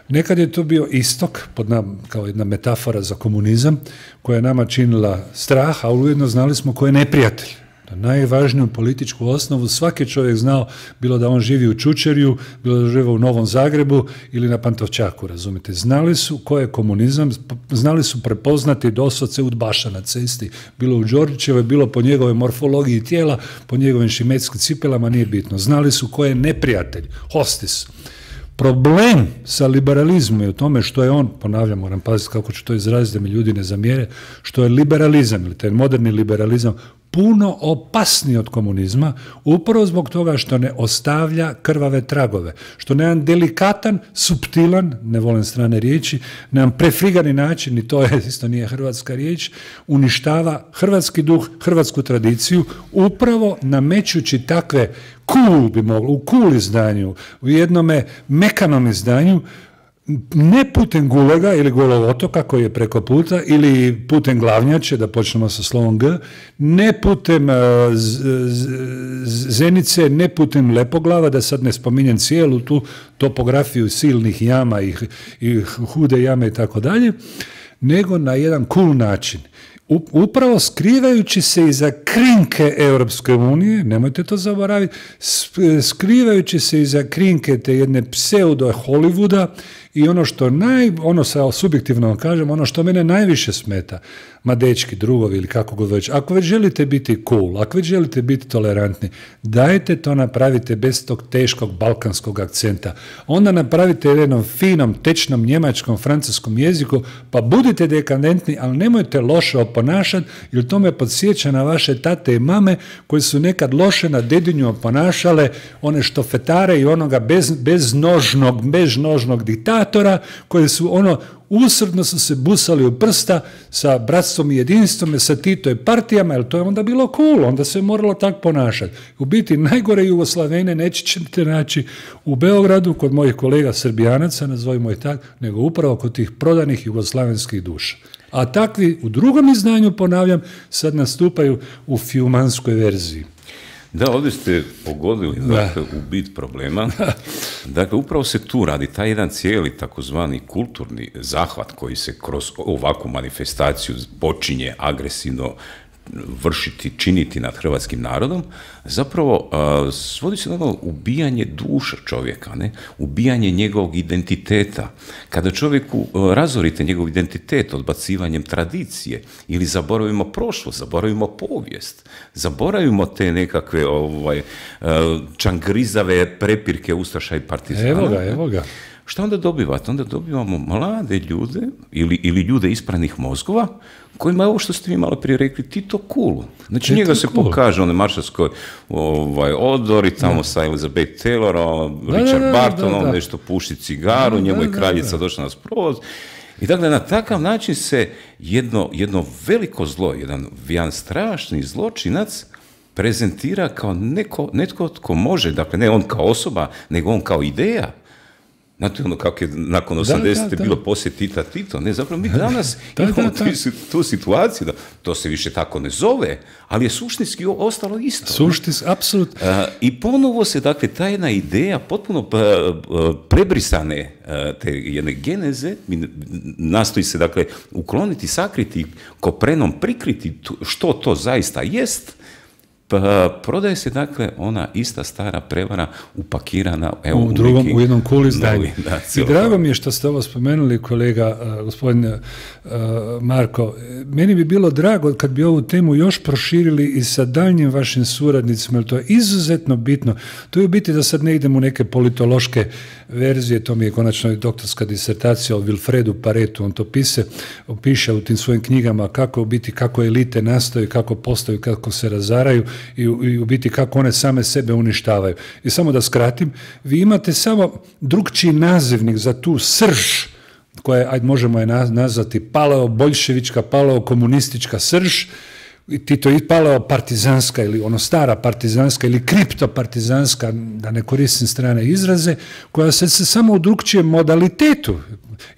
Nekad je to bio istok, pod nam, kao jedna metafora za komunizam, koja je nama činila strah, a ujedno znali smo ko je neprijatelj. Najvažniju političku osnovu svaki čovjek znao, bilo da on živi u Čučerju, bilo da živi u Novom Zagrebu ili na Pantovčaku, razumite. Znali su ko je komunizam, znali su prepoznati doslovce udbaša na cesti, bilo u Đorđićevoj, bilo po njegove morfologiji tijela, po njegovim šimetskim cipelama, nije bitno. Znali su ko je neprijatelj, hostis. Problem sa liberalizmom je u tome što je on, ponavljam, moram paziti kako ću to izraziti da mi ljudi ne zamjere, što je liberalizam ili taj moderni liberalizam puno opasniji od komunizma, upravo zbog toga što ne ostavlja krvave tragove, što na jedan delikatan, suptilan, ne volim strane riječi, na jedan prefrigani način, i to je isto nije hrvatska riječ, uništava hrvatski duh, hrvatsku tradiciju, upravo namećući takve cool bi moglo, u cool izdanju, u jednome mekanom izdanju, ne putem Gulega ili Golovotoka koji je preko puta ili putem Glavnjače, da počnemo sa slovom G, ne putem uh, z, z, Zenice, ne putem Lepoglava, da sad ne spominjem cijelu tu topografiju silnih jama i, i hude jame i tako dalje, nego na jedan cool način. Upravo skrivajući se iza krinke Europske unije, nemojte to zaboraviti, skrivajući se iza krinke te jedne pseudo Hollywooda i ono što naj, ono sa subjektivno kažem, ono što mene najviše smeta, ma dečki, drugovi ili kako god već, ako već želite biti cool, ako već želite biti tolerantni, dajte to napravite bez tog teškog balkanskog akcenta. Onda napravite jednom finom, tečnom, njemačkom, francuskom jeziku, pa budite dekadentni, ali nemojte loše oponašati, jer to me podsjeća na vaše tate i mame koji su nekad loše na dedinju oponašale one štofetare i onoga bez, beznožnog, beznožnog diktatora koji su ono usrdno su se busali u prsta sa bratstvom i jedinstvom, sa Tito i partijama, jer to je onda bilo cool, onda se moralo tako ponašati. U biti najgore Jugoslavene nećete naći u Beogradu kod mojih kolega Srbijanaca, nazovimo ih tako, nego upravo kod tih prodanih jugoslavenskih duša. A takvi u drugom izdanju, ponavljam, sad nastupaju u fiumanskoj verziji.
Da, ovdje ste pogodili dakle, u bit problema. Dakle, upravo se tu radi taj jedan cijeli takozvani kulturni zahvat koji se kroz ovakvu manifestaciju počinje agresivno vršiti, činiti nad hrvatskim narodom, zapravo uh, svodi se na ono ubijanje duša čovjeka, ne? Ubijanje njegovog identiteta. Kada čovjeku uh, razorite njegov identitet odbacivanjem tradicije ili zaboravimo prošlost, zaboravimo povijest, zaboravimo te nekakve ovaj, uh, čangrizave prepirke ustaša i partizana.
Evo ga, evo ga.
Šta onda dobivate? Onda dobivamo mlade ljude ili, ili ljude ispranih mozgova kojima je ovo što ste vi malo prije rekli Tito cool. Znači Tito njega se cool. Pokaže onaj maršalskoj ovaj, odori tamo da. Sa Elizabeth Taylorom, da, Richard da, da, Bartonom, da, da. Nešto puši cigaru, da, njemu je kraljica da, da. Došla na sprovod. I dakle, na takav način se jedno, jedno veliko zlo, jedan, jedan strašni zločinac prezentira kao neko, netko tko može, dakle ne on kao osoba, nego on kao ideja. Znate ono kako je nakon osamdesete bilo poslije Tita Tito, ne, zapravo mi danas da, imamo da, da. Tu, tu situaciju, da to se više tako ne zove, ali je suštinski ostalo isto.
Suštinski, apsolutno.
I ponovo se, dakle, ta jedna ideja potpuno prebrisane te jedne geneze, nastoji se, dakle, ukloniti, sakriti, koprenom prikriti što to zaista jest. Pa, prodaje se, dakle, ona ista stara prevara upakirana evo,
u, drugom,
neki,
u jednom cool izdanju. I drago
to.
Mi je što ste ovo spomenuli, kolega, uh, gospodin uh, Marko. Meni bi bilo drago kad bi ovu temu još proširili i sa daljnjim vašim suradnicima, jer to je izuzetno bitno. To je u biti da sad ne idemo u neke politološke verzije, to mi je konačno i doktorska disertacija o Wilfredu Paretu, on to pise, piše u tim svojim knjigama kako u biti, kako elite nastaju, kako postaju, kako se razaraju, I, i u biti kako one same sebe uništavaju. I samo da skratim, vi imate samo drugčiji nazivnik za tu srž, koja je, ajde možemo je nazvati paleo-boljševička, paleo-komunistička srž, Tito i paleo-partizanska ili ono stara partizanska ili kriptopartizanska, da ne koristim strane izraze, koja se, se samo u drugčijem modalitetu,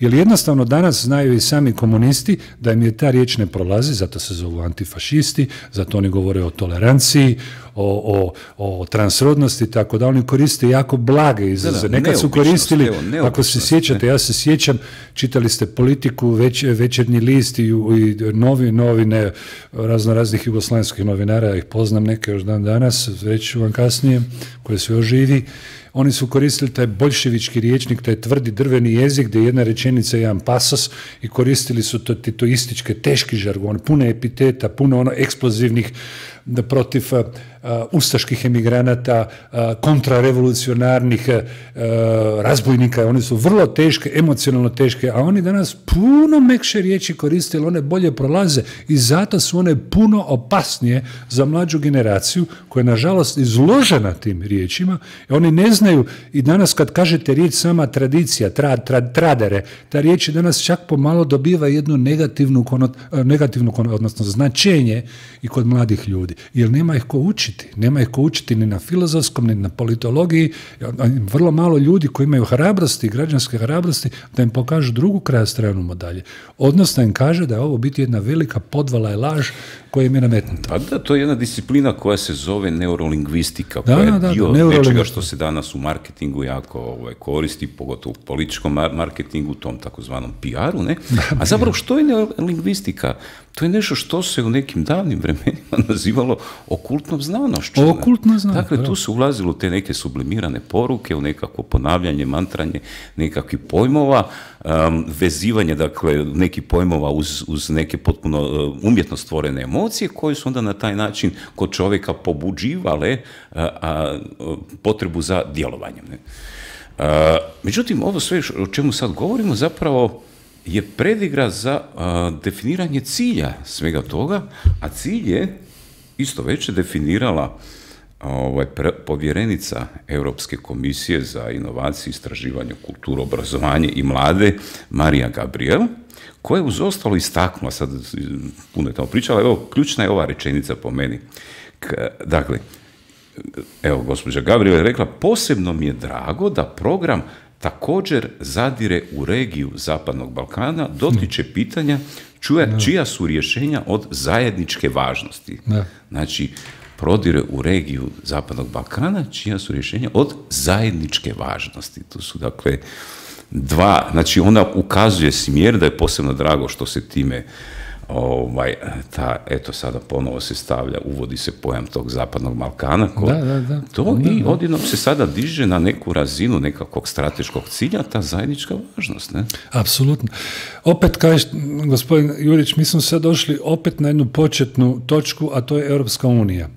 jer jednostavno danas znaju i sami komunisti da im je ta riječ ne prolazi, zato se zovu antifašisti, zato oni govore o toleranciji, o, o, o transrodnosti, tako da oni koriste jako blage izraze. Nekad su koristili, evo, ako se sjećate, ne? ja se sjećam, čitali ste Politiku, već, Večernji list i, i novi novine razno raznih jugoslavenskih novinara, ja ih poznam neke još dan danas, reći ću vam kasnije, koje su još živi. Oni su koristili taj boljševički riječnik, taj tvrdi drveni jezik gdje je jedna rečenica i jedan pasos i koristili su to titoističke, teški žargon, puno epiteta, puno ono eksplozivnih da protiv uh, ustaških emigranata, uh, kontrarevolucionarnih uh, razbojnika. Oni su vrlo teške, emocionalno teške, a oni danas puno mekše riječi koriste, jer one bolje prolaze i zato su one puno opasnije za mlađu generaciju koja je nažalost izložena tim riječima. I oni ne znaju, i danas kad kažete riječ sama tradicija, tra, tra, tradere, ta riječ danas čak pomalo dobiva jednu negativnu, konot, negativnu konot, odnosno značenje i kod mladih ljudi. Jer nema ih ko učiti. Nema ih ko učiti ni na filozofskom, ni na politologiji. Vrlo malo ljudi koji imaju hrabrosti, građanske hrabrosti, da im pokažu drugu kraj stranu medalje. Odnosno im kaže da je ovo biti jedna velika podvala i laž koja im je nametnuta.
Pa da, to je jedna disciplina koja se zove neurolingvistika, koja da, je da, dio da, nečega što se danas u marketingu jako ovaj, koristi, pogotovo u političkom marketingu, tom takozvanom P R-u, ne? A zapravo što je neurolingvistika? To je nešto što se u nekim davnim vremenima nazivalo okultnom znanošću.
Okultno znanošću.
Dakle, tu su ulazilo te neke sublimirane poruke, u nekako ponavljanje, mantranje nekakvih pojmova, um, vezivanje, dakle, nekih pojmova uz, uz neke potpuno uh, umjetno stvorene emocije, koje su onda na taj način kod čovjeka pobuđivale a, a, potrebu za djelovanjem. Ne? A, međutim, ovo sve o čemu sad govorimo zapravo je predigra za a, definiranje cilja svega toga, a cilj je isto već definirala ovaj, pre, povjerenica Europske komisije za inovacije, istraživanje, kulturu, obrazovanje i mlade, Marija Gabriel, koja je uz ostalo istaknula, sad puno je tamo pričala, evo, ključna je ova rečenica po meni. K, dakle, evo, gospođa Gabriel je rekla, posebno mi je drago da program također zadire u regiju Zapadnog Balkana, dotiče pitanja čuja, čija su rješenja od zajedničke važnosti. Ne. Znači, prodire u regiju Zapadnog Balkana, čija su rješenja od zajedničke važnosti. To su, dakle, dva, znači ona ukazuje smjer, da je posebno drago što se time ovaj, ta, eto sada ponovo se stavlja, uvodi se pojam tog Zapadnog Balkana, ko, da, da, da. to da, i odjednom se sada diže na neku razinu nekakvog strateškog cilja, ta zajednička važnost. Ne?
Apsolutno. Opet, kažeš, gospodin Jurić, mi smo sad došli opet na jednu početnu točku, a to je Europska unija.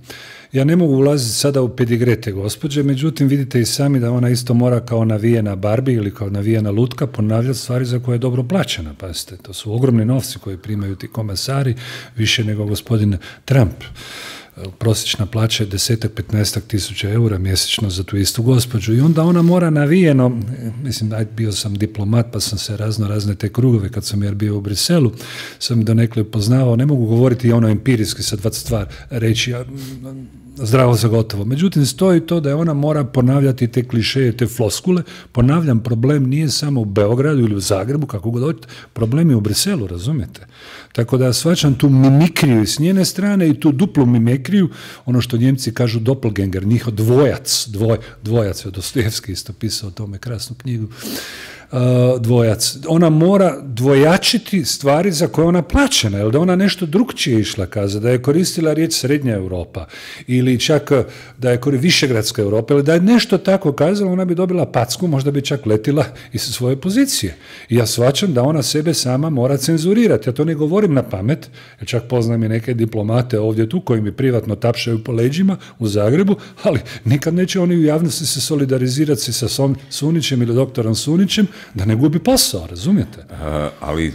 Ja ne mogu ulaziti sada u pedigrete gospođe, međutim vidite i sami da ona isto mora kao navijena Barbie ili kao navijena lutka ponavljati stvari za koje je dobro plaćena. Pazite, to su ogromni novci koje primaju ti komasari, više nego gospodin Trump. Prosječna plaća je desetak, petnaestak tisuća eura mjesečno za tu istu gospođu i onda ona mora navijeno, mislim, bio sam diplomat pa sam se razno razne te krugove kad sam jer bio u Briselu, sam donekle poznavao, ne mogu govoriti ono empirijski sad vat stvar reći, zdravo za gotovo. Međutim, stoji to da je ona mora ponavljati te klišeje, te floskule. Ponavljam, problem nije samo u Beogradu ili u Zagrebu, kako god hoćete, problem je u Briselu, razumijete? Tako da shvaćam tu mimikriju s njene strane i tu duplu mimikriju, ono što Njemci kažu doppelganger, njihov dvojac, dvoj, dvojac je Dostojevski isto pisao o tome krasnu knjigu, Uh, dvojac. Ona mora dvojačiti stvari za koje ona plaćena, jer da ona nešto drugčije išla kaza, da je koristila riječ Srednja Europa ili čak da je koristila Višegradska Europa ili da je nešto tako kazala, ona bi dobila packu, možda bi čak letila iz svoje pozicije. I ja shvaćam da ona sebe sama mora cenzurirati. Ja to ne govorim na pamet, jer čak poznam i neke diplomate ovdje tu koji mi privatno tapšaju po leđima u Zagrebu, ali nikad neće oni u javnosti se solidarizirati sa Sunićem ili doktorom Sunićem, da ne gubi posao, razumijete? Uh,
ali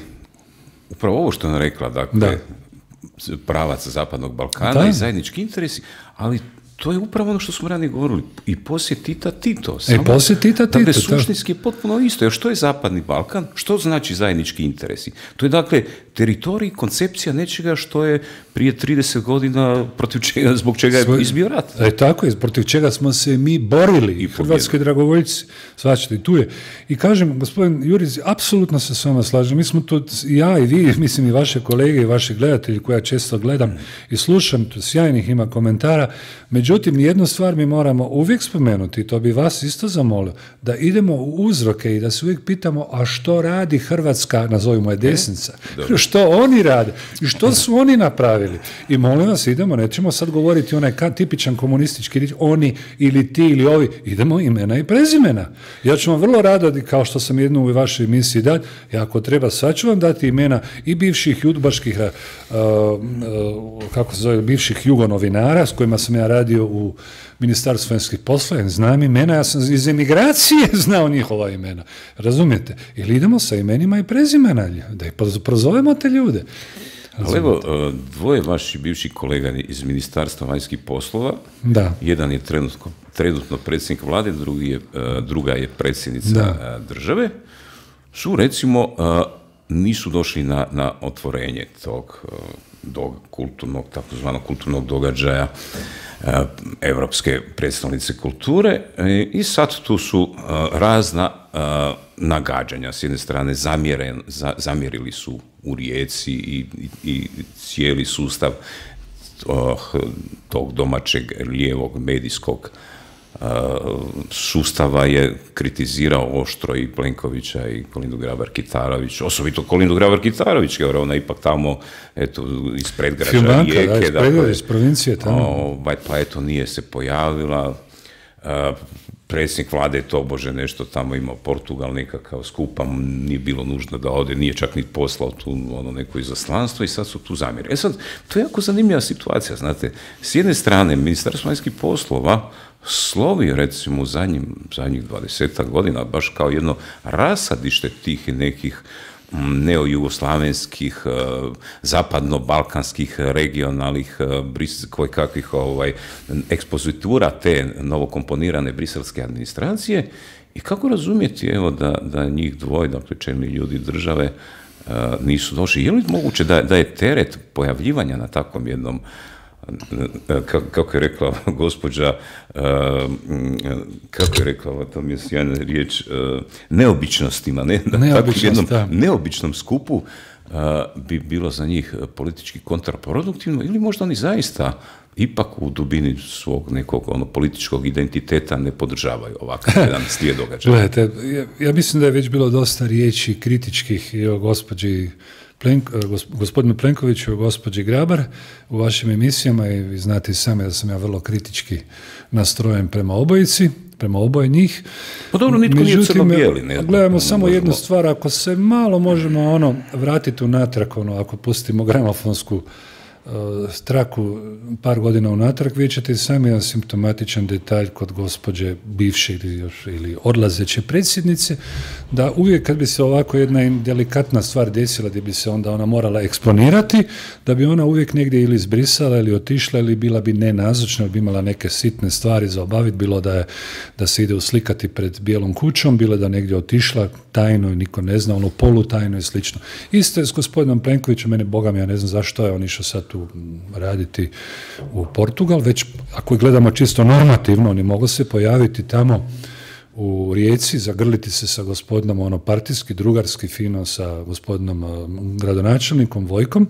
upravo ovo što je rekla, dakle, da. pravac Zapadnog Balkana da. i zajednički interesi, ali to je upravo ono što smo ranije govorili, i poslije Tita Tito.
Samo, e, poslije Tita Tito.
Dakle, suštinski je potpuno isto. Jer što je Zapadni Balkan? Što znači zajednički interesi? To je, dakle, teritorij, koncepcija nečega što je prije trideset godina protiv čega, zbog čega je Svoj, izbio rat.
E, tako je, protiv čega smo se mi borili, i hrvatski dragovoljci, svačite, tu je. I kažem, gospodin Jurić, apsolutno se s vama slažem, mi smo tu, ja i vi, mislim i vaše kolege i vaši gledatelji koje ja često gledam i slušam, tu sjajnih ima komentara, međutim, jednu stvar mi moramo uvijek spomenuti, to bi vas isto zamolio, da idemo u uzroke i da se uvijek pitamo, a što radi Hrvatska, nazovimo je desnica, e, što oni rade i što su oni napravili. I molim vas, idemo, nećemo sad govoriti onaj tipičan komunistički riječ, oni ili ti ili ovi, idemo imena i prezimena. Ja ću vam vrlo rado, kao što sam jednu u vašoj emisiji dati, ja ako treba, sad ću vam dati imena i bivših udbaških, uh, uh, kako se zove, bivših jugonovinara s kojima sam ja radio u Ministarstvu vanjskih poslova, znam imena, ja sam iz emigracije znao njihova imena. Razumijete? Ili idemo sa imenima i prezimena, da ih prozovemo te ljude.
Ali evo, dvoje vaših bivših kolega iz Ministarstva vanjskih poslova,
da.
Jedan je trenutno, trenutno predsjednik vlade, drugi je, druga je predsjednica da. države, su recimo nisu došli na, na otvorenje tog do kulturnog, takozvanog kulturnog događaja Europske predstavnice kulture i sad tu su razna nagađanja. S jedne strane zamjeren, zamjerili su u Rijeci i, i, i cijeli sustav tog domaćeg lijevog medijskog sustava je kritizirao oštro i Plenkovića i Kolindu Grabar-Kitarović, osobito Kolindu Grabar-Kitarović, jer ona ipak tamo, eto, iz predgrađa
Filmanka,
Rijeke,
da, iz, dakle, iz provincije tamo.
Ovaj, pa eto, nije se pojavila. A, predsjednik vlade je to, bože, nešto tamo imao Portugal nekakav skupa, nije bilo nužno da ode, nije čak ni poslao tu ono neko izaslanstvo i sad su tu zamjeri. E sad, to je jako zanimljiva situacija, znate, s jedne strane, Ministarstvo vanjskih poslova slovi, recimo, u zadnjim, zadnjih dvadesetak godina, baš kao jedno rasadište tih nekih neojugoslavenskih, zapadno-balkanskih, regionalnih, koje kakvih ovaj, ekspozitura te novokomponirane briselske administracije. I kako razumjeti, evo, da, da njih dvoje, dakle, čelni ljudi države, nisu došli? Je li moguće da, da je teret pojavljivanja na takvom jednom, kako je rekla gospođa, kako je rekla, to mi je sjajna riječ, neobičnostima, ne? Na takvom jednom neobičnom skupu bi bilo za njih politički kontraproduktivno, ili možda oni zaista ipak u dubini svog nekog ono, političkog identiteta ne podržavaju ovakav jedan slijed događaja.
Gledajte, ja, ja mislim da je već bilo dosta riječi kritičkih i o gospođi Plenk, gospodinu Plenkoviću i gospođi Grabar u vašim emisijama, i vi znate sami da sam ja vrlo kritički nastrojen prema obojici, prema oboje njih.
Pa dobro, nitko nije crno-bijeli. Ne,
gledamo ne, samo možemo... jednu stvar, ako se malo možemo ono vratiti unatrag, ono, ako pustimo gramofonsku traku par godina unatrag, vidjet ćete sami jedan simptomatičan detalj kod gospođe bivše ili, još, ili odlazeće predsjednice, da uvijek kad bi se ovako jedna delikatna stvar desila gdje bi se onda ona morala eksponirati, da bi ona uvijek negdje ili izbrisala ili otišla ili bila bi nenazočna, bi imala neke sitne stvari za obaviti, bilo da, je, da se ide uslikati pred Bijelom kućom, bilo da negdje otišla tajno i niko ne zna, ono polutajno i slično. Isto je s gospodinom Plenkovićem, mene Boga mi, ja ne znam zašto je on išao sad tu raditi u Portugal, već ako gledamo čisto normativno, oni mogu se pojaviti tamo u Rijeci, zagrliti se sa gospodinom ono partijski, drugarski, fino sa gospodinom gradonačelnikom Vojkom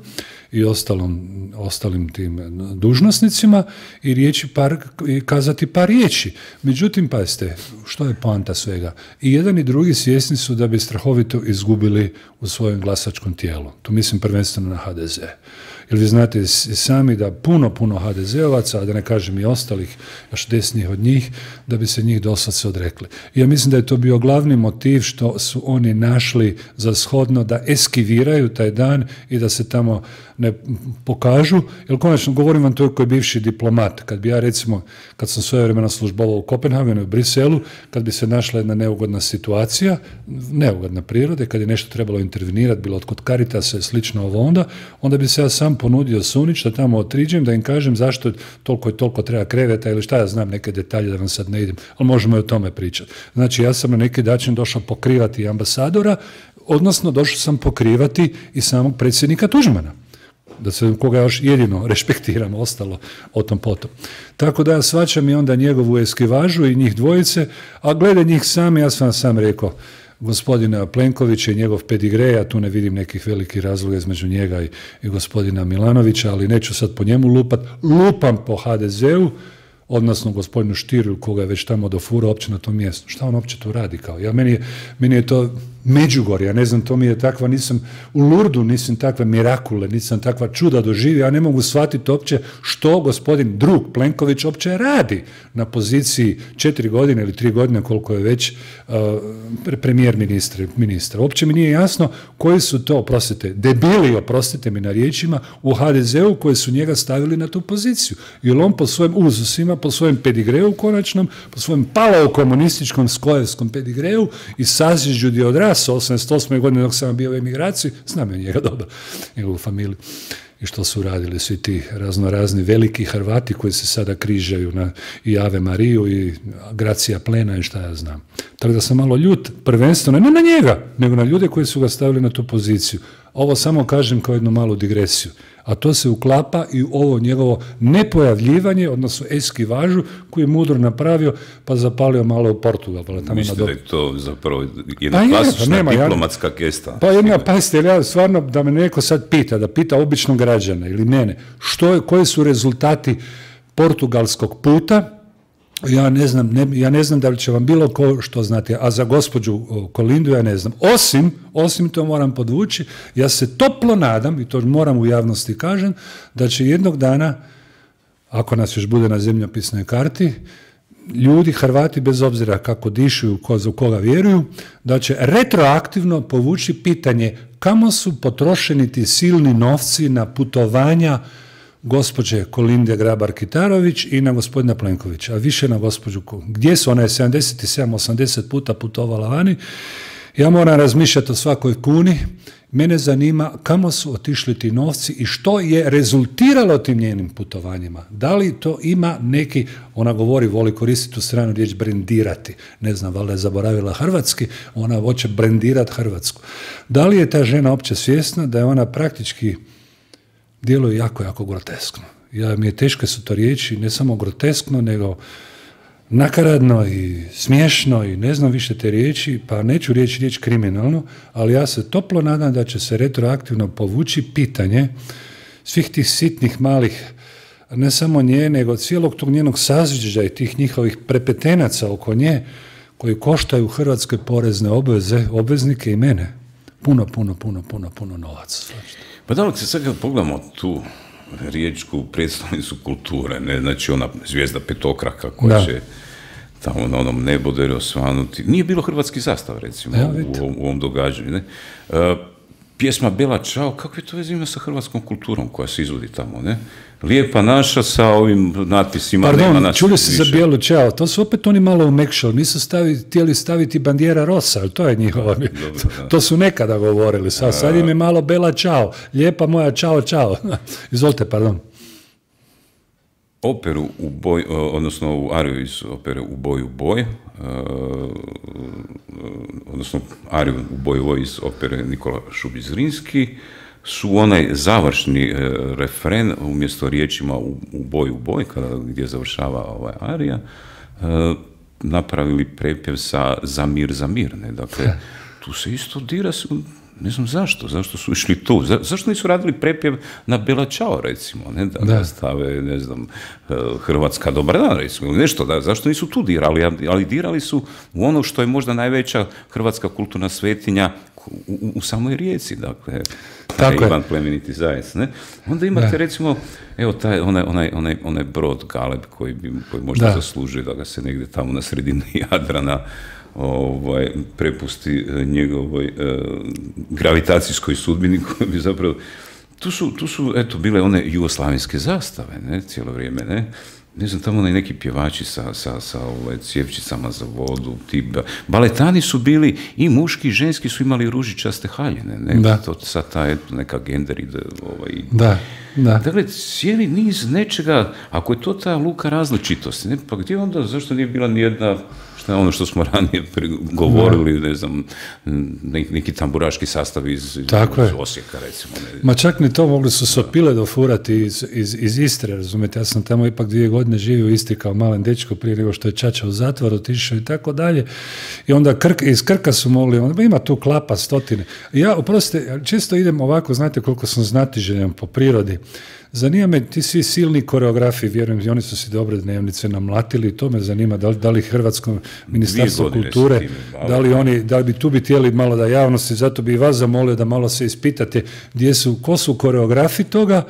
i ostalom, ostalim tim dužnosnicima i, riječi par, i kazati par riječi. Međutim, pazite, što je poanta svega? I jedan i drugi svjesni su da bi strahovito izgubili u svojem glasačkom tijelu. Tu mislim prvenstveno na ha de ze. Jer vi znate sami da puno, puno ha de zeovaca, a da ne kažem i ostalih, još desnijih od njih, da bi se njih doslovce odrekli. I ja mislim da je to bio glavni motiv što su oni našli za shodno da eskiviraju taj dan i da se tamo ne pokažu. Jer konačno, govorim vam to koji je bivši diplomat. Kad bi ja recimo, kad sam svojevremeno službovao u Kopenhagenu i u Briselu, kad bi se našla jedna neugodna situacija, neugodna prirode, kad je nešto trebalo intervenirati, bilo od kod Caritasa i slično ovo onda, onda bi se ja sam ponudio Sunić da tamo otriđem, da im kažem zašto toliko i toliko treba kreveta ili šta ja znam, neke detalje da vam sad ne idem, ali možemo i o tome pričati. Znači, ja sam na neki način došao pokrivati ambasadora, odnosno došao sam pokrivati i samog predsjednika Tuđmana, da se koga još jedino rešpektiramo, ostalo o tom potom. Tako da ja shvaćam i onda njegovu eskivažu i njih dvojice, a glede njih sami, ja sam vam sam rekao, gospodina Plenkovića i njegov pedigre, ja tu ne vidim nekih velikih razloga između njega i, i gospodina Milanovića, ali neću sad po njemu lupat, lupam po ha de zeu, odnosno gospodinu Štiru, koga je već tamo dofurao uopće na tom mjestu. Šta on uopće tu radi? Kao? Ja, meni, je, meni je to Međugorje, ja ne znam, to mi je takva, nisam u Lurdu, nisam takve mirakule, nisam takva čuda doživio, ja ne mogu shvatiti uopće što gospodin drug Plenković uopće radi na poziciji četiri godine ili tri godine, koliko je već uh, premijer ministra, ministra. Uopće mi nije jasno koji su to, oprostite, debili, oprostite mi na riječima, u ha de zeu koji su njega stavili na tu poziciju. Jer on po svojim uzusima, po svojem pedigreu konačnom, po svojem palao-komunističkom skojevskom pedigreu i sazježđu di odrasao osamdeset osme godine dok sam bio u emigraciji, znam je njega dobro, njegovu familiju i što su radili svi ti raznorazni veliki Hrvati koji se sada križaju na i Ave Mariju i Gracija Plena i šta ja znam. Tako da sam malo ljut, prvenstveno, ne na njega, nego na ljude koji su ga stavili na tu poziciju. Ovo samo kažem kao jednu malu digresiju. A to se uklapa i u ovo njegovo nepojavljivanje, odnosno eskivažu koju je mudro napravio, pa zapalio malo u Portugal. Pa
mislite da je to zapravo jedna pa klasična je, pa nema, diplomatska ja, gesta?
Pa jedna, pazite, ja stvarno da me neko sad pita, da pita običnog građana ili mene, što je, koji su rezultati portugalskog puta, ja ne znam, ne, ja ne znam da li će vam bilo ko što znate, a za gospođu Kolindu ja ne znam. Osim, osim to moram podvući, ja se toplo nadam, i to moram u javnosti kažem, da će jednog dana, ako nas još bude na zemljopisnoj karti, ljudi, Hrvati, bez obzira kako dišu, ko, za koga vjeruju, da će retroaktivno povući pitanje kamo su potrošeni ti silni novci na putovanja gospođe Kolinde Grabar-Kitarović i na gospodina Plenkovića, a više na gospođu, gdje su, ona je sedamdeset sedam osamdeset puta putovala vani, ja moram razmišljati o svakoj kuni, mene zanima kamo su otišli ti novci i što je rezultiralo tim njenim putovanjima. Da li to ima neki, ona govori, voli koristiti tu stranu riječ brendirati, ne znam, valjda je zaboravila hrvatski, ona hoće brendirati Hrvatsku. Da li je ta žena opće svjesna da je ona praktički djeluje jako, jako groteskno. Ja, mi je teške su to riječi, ne samo groteskno, nego nakaradno i smiješno i ne znam više te riječi, pa neću riječi riječ kriminalno, ali ja se toplo nadam da će se retroaktivno povući pitanje svih tih sitnih malih, ne samo nje, nego cijelog tog njenog sazviđa i tih njihovih prepetenaca oko nje, koji koštaju hrvatske porezne obveze, obveznike i mene, puno, puno, puno, puno, puno novaca.
Pa da li se sad kad pogledamo tu riječku predstavnicu kulture, ne, znači ona zvijezda petokraka koja da. će tamo na onom neboderu osvanuti, nije bilo hrvatski zastav recimo ja, u, u, u ovom događanju. Ne? Uh, pjesma Bela Ćao, kakve to veze ima sa hrvatskom kulturom koja se izvodi tamo, ne? Lijepa naša sa ovim natpisima.
Pardon,
nema
čuli se za Bijelu Ćao, to su opet oni malo umekšali, nisu staviti, htjeli staviti Bandiera Rosa, ali to je njihova. Dobro, to, to su nekada govorili, sad, sad im je malo Bela Ćao, lijepa moja Ćao, Ćao. Izvolite, pardon.
Operu u boj, odnosno u ariju iz opere U boj, u boj, odnosno ariju U boj, u boj iz opere Nikola Šubić-Zrinski, su onaj završni refren umjesto riječima u, u boj, u boj, kada, gdje završava ovaj arija, napravili prepjev sa za mir, za mir. Ne? Dakle, tu se isto dira, ne znam zašto, zašto su išli tu, za, zašto nisu radili prepjev na Bela Ćao, recimo, ne, da, da stave, ne znam, Hrvatska dobar dan, recimo, ili nešto, da, zašto nisu tu dirali, ali dirali su u ono što je možda najveća hrvatska kulturna svetinja u, u, u samoj Rijeci, dakle,
tako
Ivan plemeniti zajec, ne? Onda imate, da. recimo, evo, taj, onaj, onaj, onaj, onaj brod Galeb koji, bi, koji možda da. zaslužuje da ga se negdje tamo na sredini Jadrana ovaj, prepusti njegovoj eh, gravitacijskoj sudbini koji bi zapravo... Tu su, tu su, eto, bile one jugoslavenske zastave, ne, cijelo vrijeme, ne? Ne znam, tamo neki pjevači sa, sa, sa ovaj, cjevčicama za vodu, ti baletani su bili i muški i ženski su imali ružičaste haljine, ne? Da. To sad ta, eto, neka gender ide, ovaj...
Da, da.
Dakle, cijeli niz nečega, ako je to ta luka različitosti, ne? Pa gdje onda, zašto nije bila nijedna... ono što smo ranije govorili, ne znam, neki tamburaški sastav iz, iz Osijeka, recimo. Ne.
Ma čak ni to, mogli su sopile dofurati iz, iz, iz Istre, razumijete, ja sam tamo ipak dvije godine živio u Istri kao malen dečko prije nego što je čača u zatvor otišao i tako dalje, i onda Krk, iz Krka su mogli, onda ima tu klapa stotine. Ja, oprostite, čisto idem ovako, znate koliko sam znatiželjan po prirodi. Zanima me, ti svi silni koreografi, vjerujem, i oni su si dobre dnevnice namlatili, to me zanima, da li, da li Hrvatsko ministarstvo kulture, da li oni, da li bi tu bi htjeli malo da javnosti, zato bi i vas zamolio da malo se ispitate gdje su, ko su koreografi toga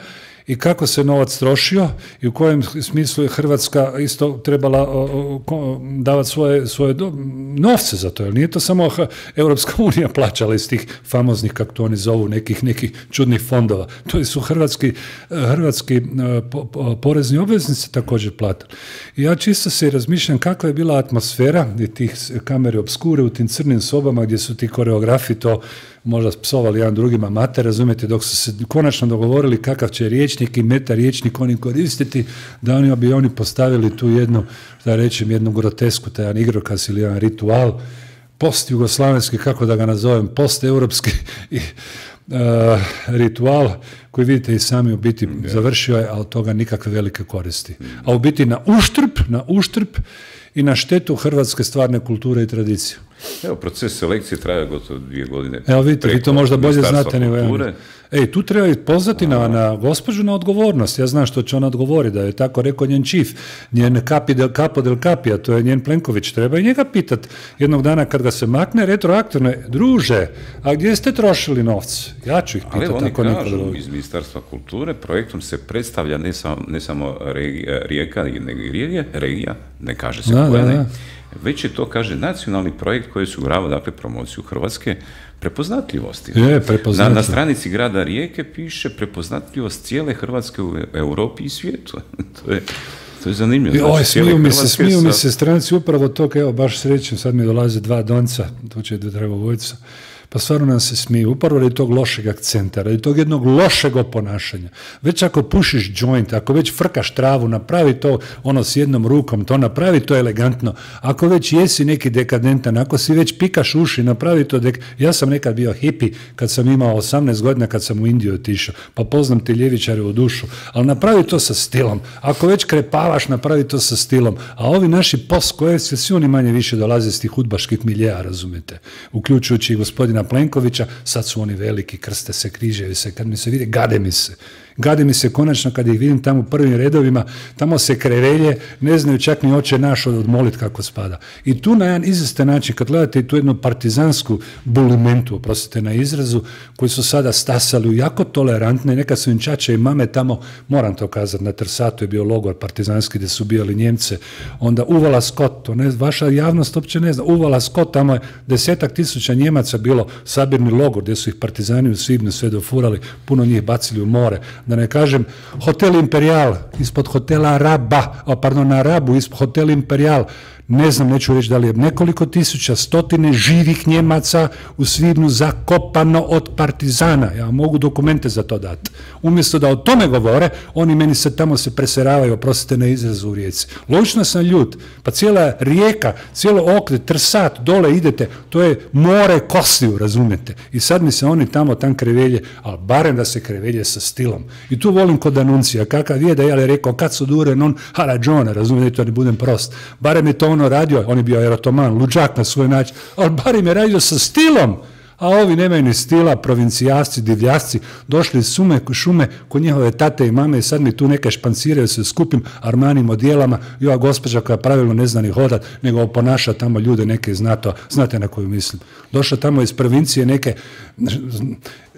i kako se novac trošio i u kojem smislu je Hrvatska isto trebala o, o, davati svoje, svoje do, novce za to, jer nije to samo Europska unija plaćala iz tih famoznih, kako to oni zovu, nekih, nekih čudnih fondova. To su hrvatski, hrvatski po, po, porezni obveznici također platili. I ja čisto se razmišljam kakva je bila atmosfera tih kamere obskure u tim crnim sobama gdje su ti koreografi to možda psovali jedan drugima mater, razumijete, dok su se konačno dogovorili kakav će riječnik i meta riječnik oni koristiti, da oni bi oni postavili tu jednu, da rečem, jednu grotesku, taj jedan igrokaz ili jedan ritual, post-jugoslavenski, kako da ga nazovem, post-europski uh, ritual, koji vidite i sami u biti yeah. završio je, a od toga nikakve velike koristi. A u biti na uštrb, na uštrb i na štetu hrvatske stvarne kulture i tradicije.
Evo, proces selekcije traje gotovo dvije godine.
Evo vidite, vi to možda bolje znate nego ja. Ej, tu treba pozvati na, na gospođu na odgovornost. Ja znam što će ona odgovori, da je tako rekao njen čif, njen kapi del capo del capi, a to je njen Plenković. Treba i njega pitat jednog dana kad ga se makne retroaktivno, druže, a gdje ste trošili novce? Ja ću ih pitati.
Ali oni kažu iz Ministarstva kulture, projektom se predstavlja ne samo, ne samo regija, Rijeka, nego i regija, regija, ne kaže se koja ne, već je to, kaže, nacionalni projekt koji su grava, dakle, promociju Hrvatske prepoznatljivosti.
Je, prepoznatljiv.
na, na stranici grada Rijeke piše prepoznatljivost cijele Hrvatske u Europi i svijetu. to, je, to je zanimljivo.
Znači, Oj, smiju mi se, smiju sa... mi se stranici upravo tog, evo, baš srećem, sad mi dolaze dva donca, tu će da treba vojca. Pa stvarno nam se smiju, upravo radi tog lošeg akcenta, radi tog jednog lošeg oponašanja. Već ako pušiš joint, ako već frkaš travu, napravi to ono s jednom rukom, to napravi to elegantno. Ako već jesi neki dekadentan, ako si već pikaš uši, napravi to dek... Ja sam nekad bio hipi kad sam imao osamnaest godina, kad sam u Indiju otišao, pa poznam te ljevičare u dušu, ali napravi to sa stilom. Ako već krepavaš, napravi to sa stilom. A ovi naši post-kojevci, svi oni manje više dolaze iz tih udbaških miljeja, razumete, uključujući i gospodina Plenkovića, sad su oni veliki, krste se, križevi se, kad mi se vide, gade mi se. Gade mi se konačno kad ih vidim tamo u prvim redovima, tamo se krevelje, ne znaju čak ni oče naš odmolit kako spada. I tu na jedan izvestan način, kad gledate tu jednu partizansku bulimentu, oprostite na izrazu, koji su sada stasali u jako tolerantne, nekad su im čače i mame tamo, moram to kazati, na Trsatu je bio logor partizanski gdje su ubijali Njemce, onda Uvala Skot, to ne, vaša javnost uopće ne zna, Uvala Skot, tamo je desetak tisuća Njemaca bilo sabirni logor gdje su ih partizani u svibnju sve dofurali, puno njih bacili u more. Da ne kažem, Hotel Imperial, ispod hotela Raba, o, pardon, na Rabu, ispod Hotel Imperial, ne znam, neću reći da li je nekoliko tisuća, stotine živih Njemaca u svibnju zakopano od partizana. Ja mogu dokumente za to dati. Umjesto da o tome govore, oni meni se tamo se preseravaju, oprostite na izrazu u Rijeci. Logično sam ljut, pa cijela Rijeka, cijelo okret, Trsat, dole idete, to je more kostiju, razumijete. I sad mi se oni tamo tam krevelje, ali barem da se krevelje sa stilom. I tu volim kod Anuncija, kakav je da je rekao, kad su dure non harađone, razumijete, to ne budem prost. Barem je to ono radio, on je bio erotoman, luđak na svoj način, ali barem je radio sa stilom, a ovi nemaju ni stila, provincijasci, divljasci, došli iz sume, šume kod njihove tate i mame i sad mi tu neke španciraju se skupim Armanim odjelama i ova gospođa koja pravilno ne zna ni hodat, nego oponaša tamo ljude neke znato, znate na koju mislim. Došla tamo iz provincije neke,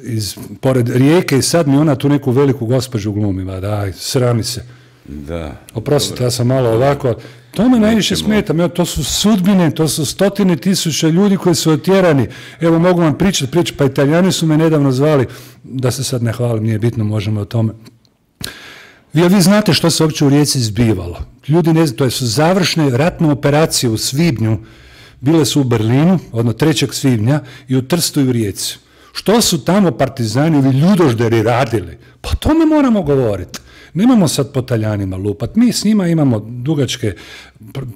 iz, pored Rijeke i sad mi ona tu neku veliku gospođu glumi, ba daj, srami se.
Da.
Oprostite, ja sam malo ovako, to me najviše smeta, to su sudbine, to su stotine tisuća ljudi koji su otjerani. Evo, mogu vam pričati, pričati, pa Italijani su me nedavno zvali, da se sad ne hvalim, nije bitno, možemo o tome. Vi, vi znate što se uopće u Rijeci zbivalo. Ljudi ne znaju, to su završne ratne operacije u svibnju, bile su u Berlinu, odnosno trećeg svibnja, i u Trstu i u Rijeci. Što su tamo partizani ili ljudožderi radili? Pa o tome moramo govoriti. Nemamo sad po Talijanima lupat. Mi s njima imamo dugačke,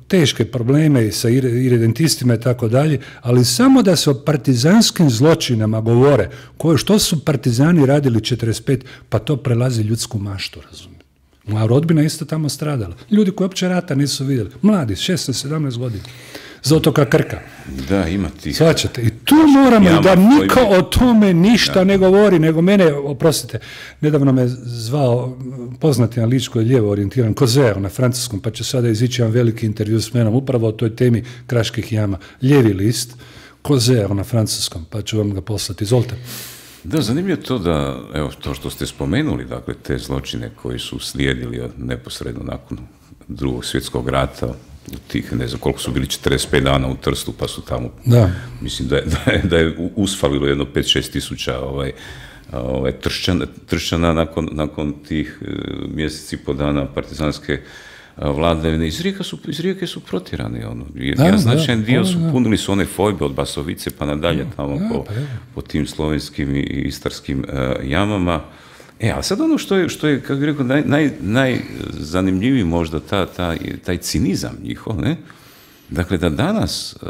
teške probleme sa irredentistima i tako dalje, ali samo da se o partizanskim zločinama govore, koje, što su partizani radili četrdeset pet, pa to prelazi ljudsku maštu, razumije. Moja rodbina isto tamo stradala. Ljudi koji uopće rata nisu vidjeli. Mladi, šesnaest sedamnaest godina. Za otoka Krka.
Da, ima tih.
Svačate. I tu moramo jama, da niko o tome ništa da. ne govori, nego mene, oprostite, nedavno me zvao poznati na ličko lijevo orijentiran Kozeo na francuskom, pa će sada izići jedan veliki intervju s menom upravo o toj temi Kraških jama. Lijevi list, Kozeo na francuskom, pa ću vam ga poslati. Izvolite.
Da, zanimljivo to da, evo, to što ste spomenuli, dakle, te zločine koji su slijedili od neposredno nakon drugog svjetskog rata, u tih, ne znam koliko su bili, četrdeset pet dana u Trstu, pa su tamo, da. mislim da je, da je, da je usfalilo jedno pet šest tisuća ovaj, ovaj, tršćana, tršćana nakon, nakon tih mjeseci po dana partizanske vladavine. Iz Rijeke su, iz Rijeke su protirani. Ono. Ja značajan dio su punili su one fojbe od Basovice pa nadalje tamo da, po, pa po tim slovenskim i istarskim uh, jamama. E, a sad ono što je, što je kako bih rekao, naj, naj, najzanimljiviji možda ta, ta, taj cinizam njihov, ne? Dakle, da danas uh,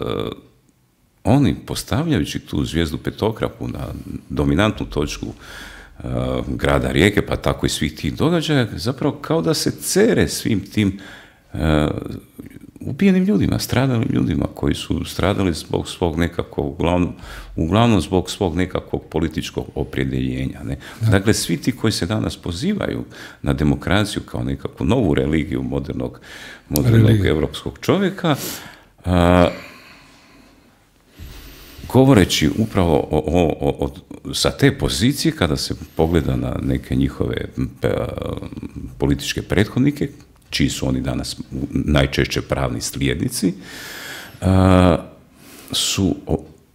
oni postavljajući tu zvijezdu petokraku na dominantnu točku uh, grada Rijeke, pa tako i svih tih događaja, zapravo kao da se cere svim tim uh, ubijenim ljudima, stradalim ljudima koji su stradali zbog svog nekakvog, uglavnom, uglavnom zbog svog nekakvog političkog opredjeljenja. Ne? Dakle, svi ti koji se danas pozivaju na demokraciju kao nekakvu novu religiju modernog, modernog Religija. evropskog čovjeka, a, govoreći upravo o, o, o, o, sa te pozicije, kada se pogleda na neke njihove a, političke prethodnike, čiji su oni danas najčešće pravni slijednici, a, su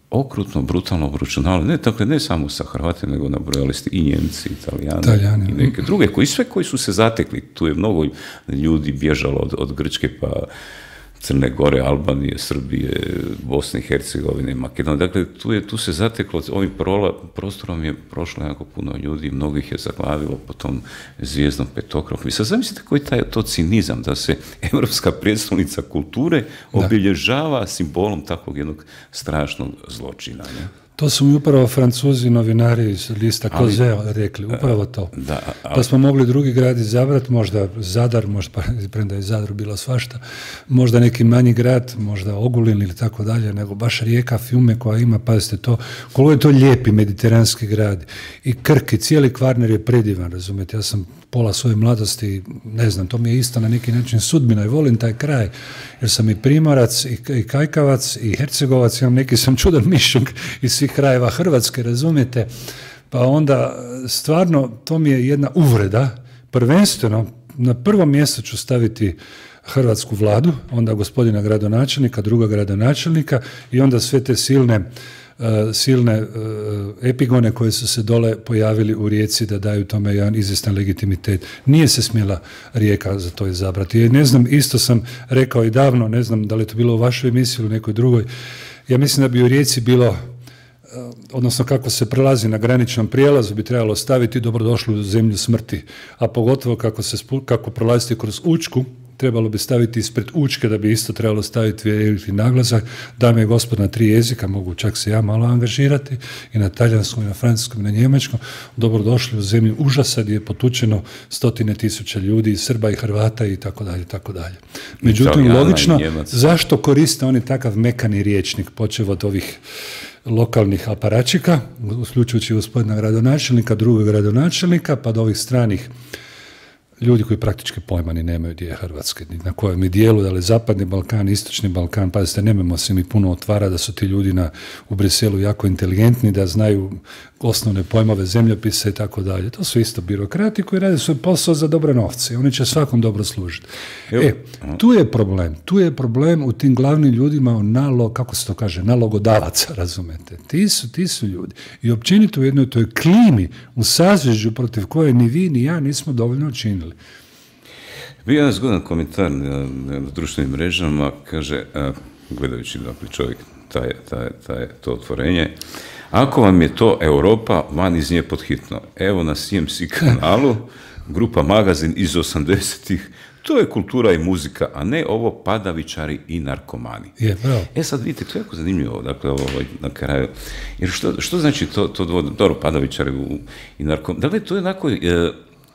okrutno, brutalno obračunavali, ne, dakle, ne samo sa Hrvatima, nego nabrojali ste i Njemci, Italijani, Italijani i neke druge, koji sve koji su se zatekli, tu je mnogo ljudi bježalo od, od Grčke pa Crne Gore, Albanije, Srbije, Bosne i Hercegovine, Makedonije. Dakle, tu, je, tu se zateklo, ovim prola, prostorom je prošlo jako puno ljudi, mnogih je zaglavilo po tom zvijezdnom petokraku. I sad zamislite koji taj to cinizam, da se evropska prijestolnica kulture obilježava simbolom takvog jednog strašnog zločina. Ne?
To su mi upravo Francuzi, novinari iz lista Kozeo rekli, upravo to. Da, ali, da smo mogli drugi grad izabrati, možda Zadar, možda, premda je Zadar bilo svašta, možda neki manji grad, možda Ogulin ili tako dalje, nego baš Rijeka, Fiume koja ima, pazite to, koliko je to lijepi mediteranski grad. I Krk i cijeli Kvarner je predivan, razumijete, ja sam pola svoje mladosti, ne znam, to mi je isto na neki način sudbina i volim taj kraj, jer sam i Primorac, i, i Kajkavac, i Hercegovac, imam neki sam čudan mišljunk iz svih krajeva Hrvatske, razumijete, pa onda stvarno to mi je jedna uvreda, prvenstveno na prvo mjesto ću staviti hrvatsku vladu, onda gospodina gradonačelnika, druga gradonačelnika i onda sve te silne Uh, silne uh, epigone koje su se dole pojavili u Rijeci da daju tome jedan izvjestan legitimitet. Nije se smjela Rijeka za to izabrati. I ne znam, isto sam rekao i davno, ne znam da li je to bilo u vašoj emisiji ili nekoj drugoj, ja mislim da bi u Rijeci bilo, uh, odnosno kako se prelazi na graničnom prijelazu, bi trebalo staviti dobrodošli u zemlju smrti, a pogotovo kako, se, kako prolaziti kroz Učku, trebalo bi staviti ispred Učke, da bi isto trebalo staviti veliki naglasak. Dame i gospod, na tri jezika, mogu čak se ja malo angažirati, i na talijanskom, i na francuskom, i na njemačkom. Dobrodošli u zemlju užasa gdje je potučeno stotine tisuća ljudi, Srba i Hrvata i tako dalje, tako dalje. Međutim, logično, zašto koriste oni takav mekani riječnik, počev od ovih lokalnih aparačika, uključujući gospodina gradonačelnika, drugog gradonačelnika, pa do ovih stranih ljudi koji praktički pojma ni nemaju gdje je Hrvatske, na kojem je dijelu, da li Zapadni Balkan, Istočni Balkan, pazite, nemojmo se mi puno otvara da su ti ljudi na, u Briselu jako inteligentni, da znaju osnovne pojmove zemljopise i tako dalje. To su isto birokrati koji rade svoj posao za dobre novce i oni će svakom dobro služiti. E, tu je problem. Tu je problem u tim glavnim ljudima, nalog, kako se to kaže, nalogodavaca, razumete. Ti su, ti su ljudi. I općenito u jednoj toj klimi, u sazvežđu protiv koje ni vi ni ja nismo dovoljno učinili.
Bio jedan zgodan komentar na, na društvenim mrežama, kaže, a, gledajući dakle čovjek taj, taj, taj, to otvorenje, ako vam je to Europa, van iz nje pod hitno. Evo na C M C kanalu grupa Magazin iz osamdesetih, to je kultura i muzika, a ne ovo padavičari i narkomani.
Je, bravo.
E sad vidite, to je jako zanimljivo, dakle, ovo, na kraju, jer što, što znači to, to dvoje, dobro, padavičari i narkomani, dakle, to je onako e,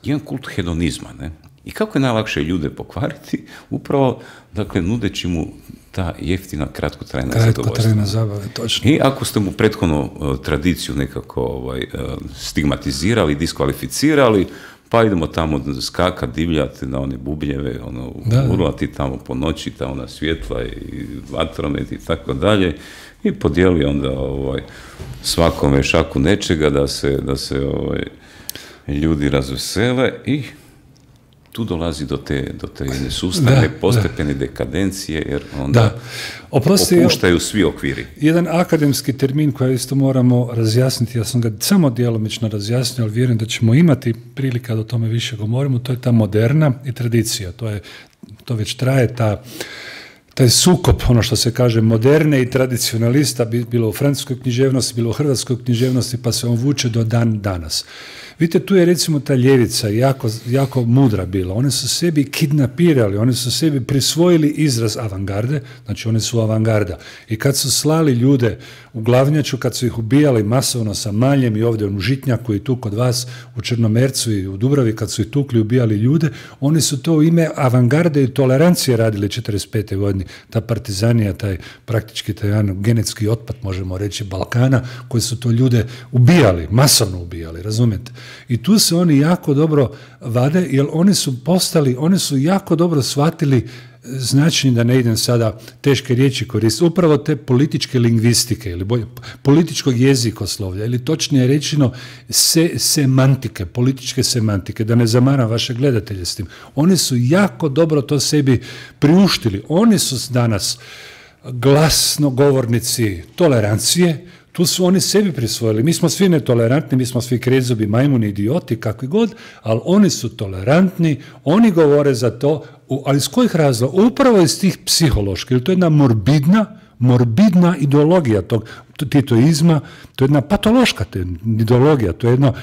jedan kult hedonizma, ne? I kako je najlakše ljude pokvariti? Upravo, dakle, nudeći mu ta jeftina, kratkotrajna zadovoljstva.
Kratkotrajna zabava, točno.
I ako ste mu prethodno uh, tradiciju nekako ovaj, uh, stigmatizirali, diskvalificirali, pa idemo tamo skakat, divljati na one bubljeve, ono, urlati tamo po noći, tamo na svjetla i vatromet i tako dalje, i podijeli onda ovaj, svakome šaku nečega da se, da se ovaj, ljudi razvesele i tu dolazi do te, do te jedne sustavne, postepene dekadencije, jer onda da. Oprosti, opuštaju svi okviri.
Jedan akademski termin koji isto moramo razjasniti, ja sam ga samo djelomično razjasnio, ali vjerujem da ćemo imati prilika da o tome više govorimo, to je ta moderna i tradicija. To, je, to već traje ta taj sukob, ono što se kaže, moderne i tradicionalista, bilo u francuskoj književnosti, bilo u hrvatskoj književnosti, pa se on vuče do dan danas. Vidite, tu je recimo ta ljevica jako, jako mudra bila. One su sebi kidnapirali, one su sebi prisvojili izraz avangarde, znači one su avangarda. I kad su slali ljude u Glavnjaču, kad su ih ubijali masovno sa maljem i ovdje u Žitnjaku i tu kod vas u Črnomercu i u Dubravi, kad su ih tukli, ubijali ljude, oni su to u ime avangarde i tolerancije radili četrdeset pete godine. Ta partizanija, taj praktički taj jedan genetski otpad, možemo reći, Balkana, koji su to ljude ubijali, masovno ubijali, razumijete? I tu se oni jako dobro vade, jer oni su postali, oni su jako dobro shvatili značenje, da ne idem sada teške riječi koristiti, upravo te političke lingvistike ili bolje, političkog jezikoslovlja ili točnije rečeno se, semantike, političke semantike, da ne zamaram vaše gledatelje s tim. Oni su jako dobro to sebi priuštili. Oni su danas glasnogovornici tolerancije. Tu su oni sebi prisvojili. Mi smo svi netolerantni, mi smo svi krezubi, majmuni, idioti, kakvi god, ali oni su tolerantni, oni govore za to, ali iz kojih razloga? Upravo iz tih psiholoških, jer to je jedna morbidna, morbidna ideologija tog titoizma, to je jedna patološka ideologija, to je jedno,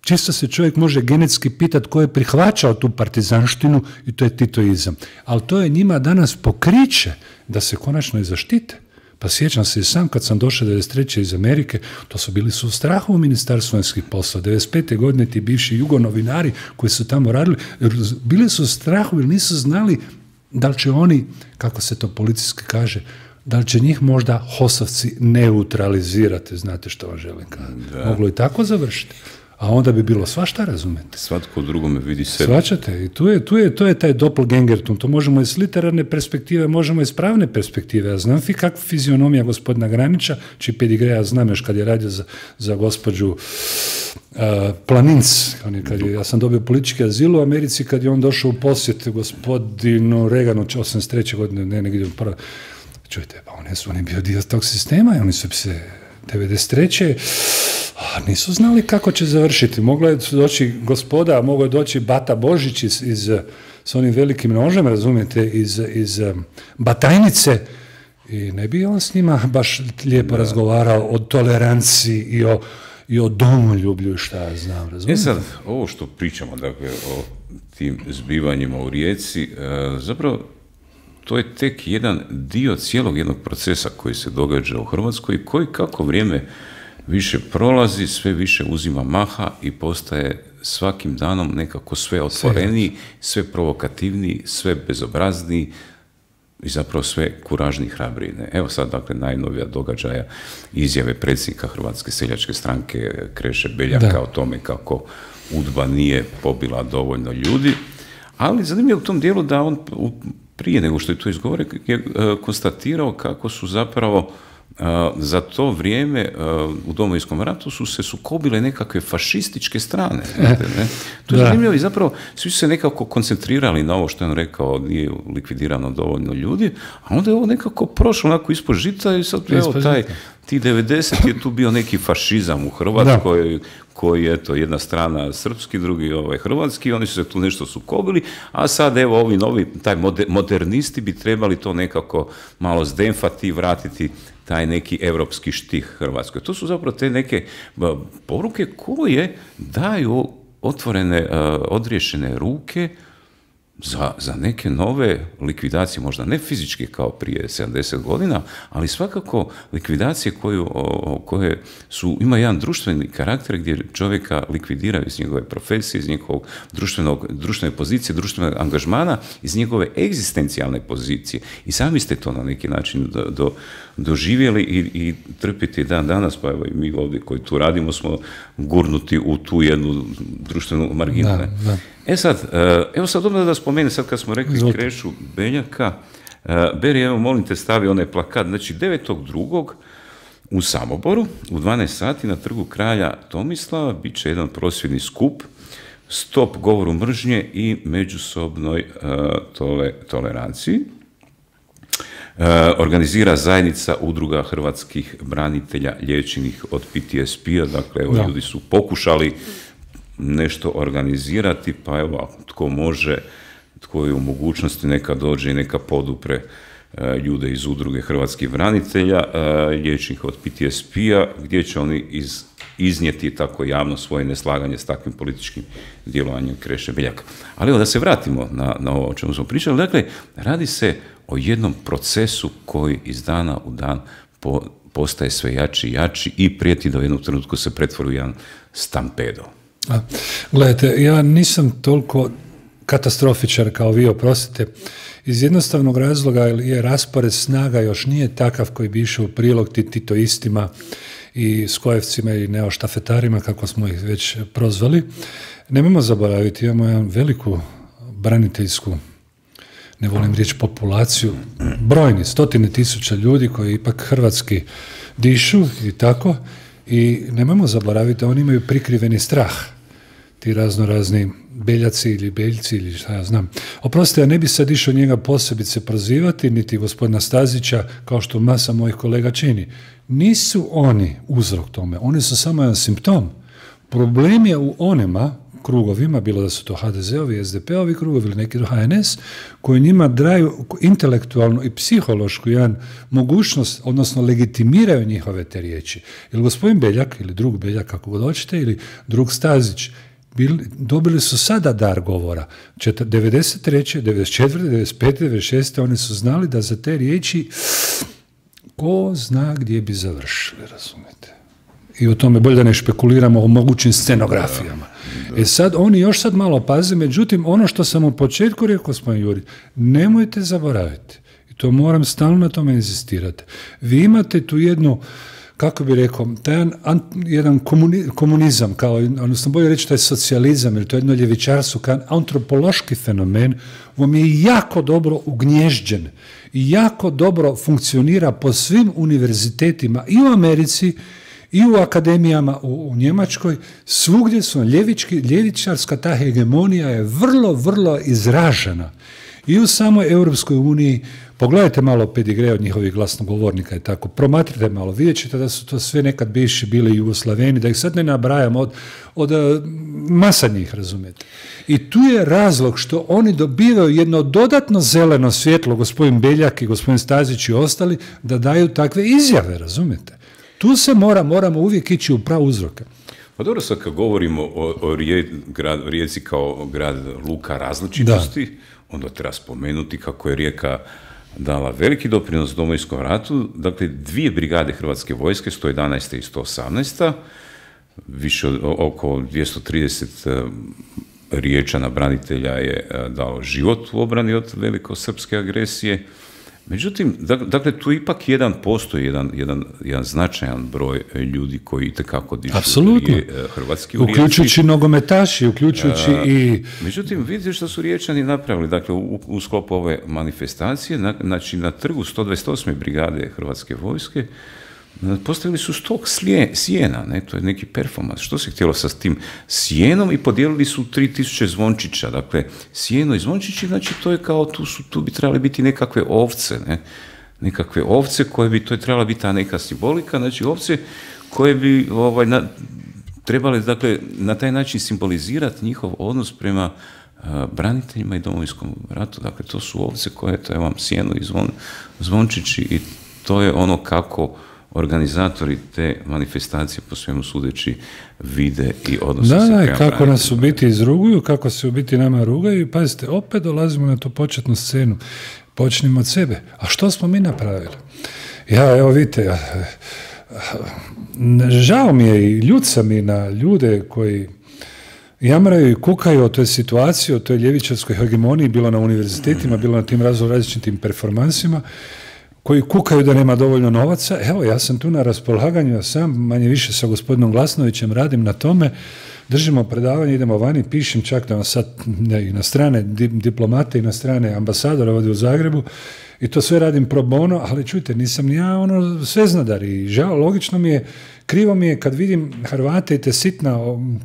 čisto se čovjek može genetski pitati ko je prihvaćao tu partizanštinu i to je titoizam. Ali to je njima danas pokriće da se konačno i zaštite. Pa sjećam se i sam kad sam došao devedeset treće iz Amerike, to su bili su u strahu u Ministarstvu vanjskih poslova. devedeset pete godine ti bivši jugonovinari koji su tamo radili, bili su u strahu jer nisu znali da li će oni, kako se to policijski kaže, da li će njih možda hosovci neutralizirati, znate što vam želim kada. Moglo i tako završiti. A onda bi bilo svašta, razumete.
Svatko drugome vidi sebe.
Svačate, i tu je, tu je, to je taj doppelgangertum, to možemo iz literarne perspektive, možemo iz pravne perspektive. Ja znam fi kakva fizionomija gospodina Granića, čiji pedigreja znam još kad je radio za, za gospođu uh, Planinc, kad je, ja sam dobio politički azil u Americi, kad je on došao u posjet gospodinu Reaganu, osamdeset treće godine, ne, negdje u prvo. Čujte, pa on je, on je bio dio tog sistema i oni su se devedeset treće A nisu znali kako će završiti. Mogla je doći gospoda, mogla je doći Bata Božić iz, iz, s onim velikim nožem, razumijete, iz, iz Batajnice i ne bi on s njima baš lijepo da. razgovarao o toleranciji i o, i o domoljublju, šta ja znam, razumijete.
E sad, ovo što pričamo, dakle, o tim zbivanjima u Rijeci, e, zapravo to je tek jedan dio cijelog jednog procesa koji se događa u Hrvatskoj i koji kako vrijeme više prolazi, sve više uzima maha i postaje svakim danom nekako sve otvoreniji, sve provokativniji, sve bezobrazniji i zapravo sve kuražniji, hrabriji. Evo sad, dakle, najnovija događaja izjave predsjednika Hrvatske seljačke stranke Kreše Beljaka da. o tome kako UDBA nije pobila dovoljno ljudi, ali zanimljivo u tom dijelu da on prije nego što je to izgovorio je konstatirao kako su zapravo Uh, za to vrijeme uh, u Domovinskom ratu su se sukobile nekakve fašističke strane. Znate, ne? To je zanimljivo i zapravo svi su se nekako koncentrirali na ovo što je on rekao, nije likvidirano dovoljno ljudi, a onda je ovo nekako prošlo onako ispod žita i sad evo taj, ti devedeset je tu bio neki fašizam u Hrvatskoj, da. koji je to jedna strana srpski, drugi ovaj hrvatski, oni su se tu nešto sukobili, a sad evo ovi novi, taj modernisti bi trebali to nekako malo zdemfati i vratiti taj neki europski štih Hrvatskoj. To su zapravo te neke poruke koje daju otvorene, odriješene ruke za, za neke nove likvidacije, možda ne fizičke kao prije sedamdeset godina, ali svakako likvidacije koju, o, koje su, ima jedan društveni karakter gdje čovjeka likvidiraju iz njegove profesije, iz njegovog društvenog, društvene pozicije, društvenog angažmana, iz njegove egzistencijalne pozicije. I sami ste to na neki način do, do, doživjeli i, i trpite dan danas, pa evo i mi ovdje koji tu radimo smo gurnuti u tu jednu društvenu marginu. Da, da. E sad, evo sad odmah da spomenem, sad kad smo rekli Zvolite. Krešu Beljaka, Beri, evo molim te stavi onaj plakat, znači devetog drugog u Samoboru, u dvanaest sati na trgu kralja Tomislava, bit će jedan prosvjedni skup, stop govoru mržnje i međusobnoj uh, tole, toleranciji. Uh, organizira zajednica udruga hrvatskih branitelja liječenih od P T S P-a, dakle evo, ljudi su pokušali nešto organizirati, pa evo, tko može, tko je u mogućnosti, neka dođe i neka podupre uh, ljude iz udruge hrvatskih branitelja, uh, liječenih od P T S P-a, gdje će oni iz, iznijeti tako javno svoje neslaganje s takvim političkim djelovanjem Kreše Beljaka. Ali evo da se vratimo na, na ovo o čemu smo pričali, dakle, radi se o jednom procesu koji iz dana u dan po, postaje sve jači i jači i prijeti da u jednom trenutku se pretvori u jedan stampedo.
A, gledajte, ja nisam toliko katastrofičar kao vi, oprostite, iz jednostavnog razloga je raspored snaga još nije takav koji bi išao u prilog titoistima i skojevcima i neoštafetarima, kako smo ih već prozvali. Nemojmo zaboraviti, imamo jednu veliku braniteljsku, ne volim riječ populaciju, brojni, stotine tisuća ljudi koji ipak hrvatski dišu i tako, i nemojmo zaboraviti da oni imaju prikriveni strah, ti razno razni Beljaci ili Beljci ili šta ja znam. Oprostite, ja ne bi sad išao njega posebice prozivati, niti gospodina Stazića, kao što masa mojih kolega čini. Nisu oni uzrok tome, oni su samo jedan simptom. Problem je u onima krugovima, bilo da su to ha de ze-ovi, es de pe-ovi krugovi ili neki ha en es, koji njima daju intelektualnu i psihološku jedan mogućnost, odnosno legitimiraju njihove te riječi. Jer gospodin Beljak, ili drug Beljak, kako god hoćete, ili drug Stazić, bili, dobili su sada dar govora. devedeset treće, devedeset četvrte, devedeset pete, devedeset šeste oni su znali da za te riječi ko zna gdje bi završili, razumijete. I o tome bolje da ne špekuliramo o mogućim scenografijama. Da, da. E sad, oni još sad malo paze, međutim, ono što sam u početku rekao, gospodin Juri, nemojte zaboraviti, i to moram stalno na tome inzistirati. Vi imate tu jednu, kako bi rekao, taj jedan, jedan komuni, komunizam, kao, odnosno bolje reći, taj socijalizam, ili to jedno ljevičarstvo, kao antropološki fenomen, vam je jako dobro ugnježđen i jako dobro funkcionira po svim univerzitetima i u Americi, i u akademijama u, u Njemačkoj, svugdje su ljevički, ljevičarska ta hegemonija je vrlo, vrlo izražena. I u samoj Europskoj uniji, pogledajte malo pedigre od njihovih glasnogovornika i tako, promatrite malo, vidjet ćete da su to sve nekad bivši bili Jugoslaveni, da ih sad ne nabrajam od, od masa njih, razumijete. I tu je razlog što oni dobivaju jedno dodatno zeleno svjetlo, gospodin Beljak i gospodin Stazić i ostali, da daju takve izjave, razumijete. Tu se mora, moramo uvijek ići u prav uzroka.
Pa dobro, sad kad govorimo o, o rije, grad, Rijeci kao grad luka različitosti, da. Onda treba spomenuti kako je Rijeka dala veliki doprinos Domovinskom ratu, dakle dvije brigade Hrvatske vojske, sto jedanaesta i sto osamnaesta, više od, oko dvjesto trideset Riječana branitelja je dalo život u obrani od velikosrpske agresije. Međutim, dakle, tu ipak jedan postoji, jedan, jedan, jedan značajan broj ljudi koji itekako dižu hrvatski u Rijeci.
Uključujući nogometaši, uključujući A, i...
Međutim, vidite što su Riječani napravili. Dakle, u, u sklopu ove manifestacije, na, znači na trgu sto dvadeset osme brigade Hrvatske vojske, postavili su stok sjena, ne? To je neki performans. Što se htjelo sa tim sjenom i podijelili su tri tisuće zvončića. Dakle, sjeno i zvončići, znači to je kao, tu, su, tu bi trebali biti nekakve ovce, ne? Nekakve ovce koje bi, to je trebala biti ta neka simbolika, znači ovce koje bi ovaj, na, trebali, dakle, na taj način simbolizirati njihov odnos prema uh, braniteljima i Domovinskom ratu. Dakle, to su ovce koje, to je vam sjeno i zvon, zvončići i to je ono kako organizatori te manifestacije po svemu sudeći vide i odnose
da,
se
da,
prema
kako nas u biti izruguju, kako se u biti nama rugaju i pazite, opet dolazimo na tu početnu scenu. Počnimo od sebe. A što smo mi napravili? Ja, evo vidite, ja, žao mi je i ljut sam i na ljude koji jamraju i kukaju o toj situaciji, o toj ljevičarskoj hegemoniji, bilo na univerzitetima, bilo na tim različitim performansima, koji kukaju da nema dovoljno novaca. Evo, ja sam tu na raspolaganju, ja sam manje više sa gospodinom Glasnovićem radim na tome, držimo predavanje, idemo vani, pišem čak da vam sad ne, i na strane diplomate i na strane ambasadora ovdje u Zagrebu i to sve radim pro bono, ali čujte, nisam ni ja ono sveznadar i žao, logično mi je, krivo mi je kad vidim Hrvate i te sitna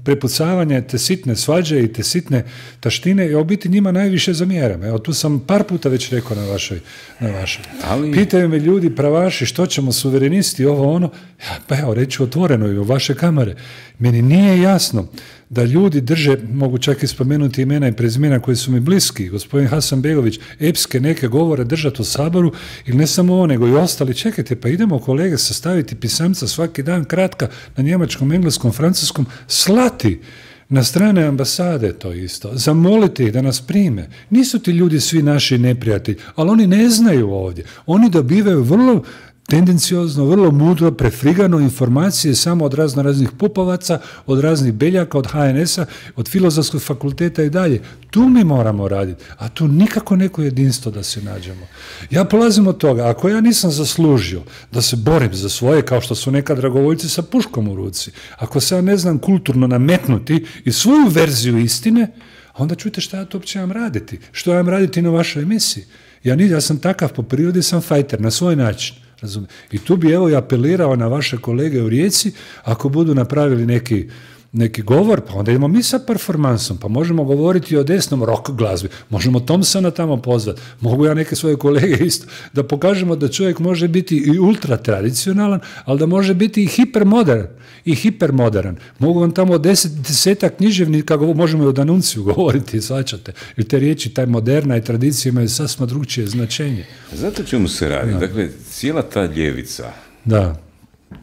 prepucavanja, te sitne svađe i te sitne taštine i u biti njima najviše zamjeram. Evo, tu sam par puta već rekao na vašoj. Na vašoj. Ali... Pitaju me ljudi, pravaši, što ćemo, suverenisti, ovo ono. Ja, pa evo, reću otvoreno i u vaše kamere. Meni nije jasno da ljudi drže, mogu čak i spomenuti imena i prezimena koji su mi bliski, gospodin Hasanbegović, epske neke govore držati u Saboru, ili ne samo ovo, nego i ostali. Čekajte, pa idemo kolege sastaviti pisamca svaki dan kratka na njemačkom, engleskom, francuskom, slati na strane ambasade to isto, zamoliti ih da nas prime. Nisu ti ljudi svi naši neprijatelji, ali oni ne znaju ovdje. Oni dobivaju vrlo tendenciozno, vrlo mudro, prefrigano informacije samo od razno raznih pupovaca, od raznih beljaka, od ha en esa, od filozofskog fakulteta i dalje. Tu mi moramo raditi, a tu nikako neko jedinstvo da se nađemo. Ja polazim od toga, ako ja nisam zaslužio da se borim za svoje, kao što su nekad dragovoljci sa puškom u ruci, ako se ja ne znam kulturno nametnuti i svoju verziju istine, onda čujte šta ja to uopće imam raditi. Što ja imam raditi na vašoj emisiji? Ja, ja sam takav po prirodi, sam fajter, na svoj način. Razumije. I tu bi evo i apelirao na vaše kolege u Rijeci, ako budu napravili neki, neki govor, pa onda idemo mi sa performansom, pa možemo govoriti o desnom rock glazbi, možemo Thompsona tamo pozvati, mogu ja neke svoje kolege isto, da pokažemo da čovjek može biti i ultra tradicionalan, ali da može biti i hipermodern, i hipermodern. Mogu vam tamo deset, desetak književnika, možemo i o Danunciju govoriti, svačate, jer te riječi, taj moderna i tradicija imaju sasma drugčije značenje.
Zato čemu se radi? Da. Dakle, cijela ta ljevica,
da,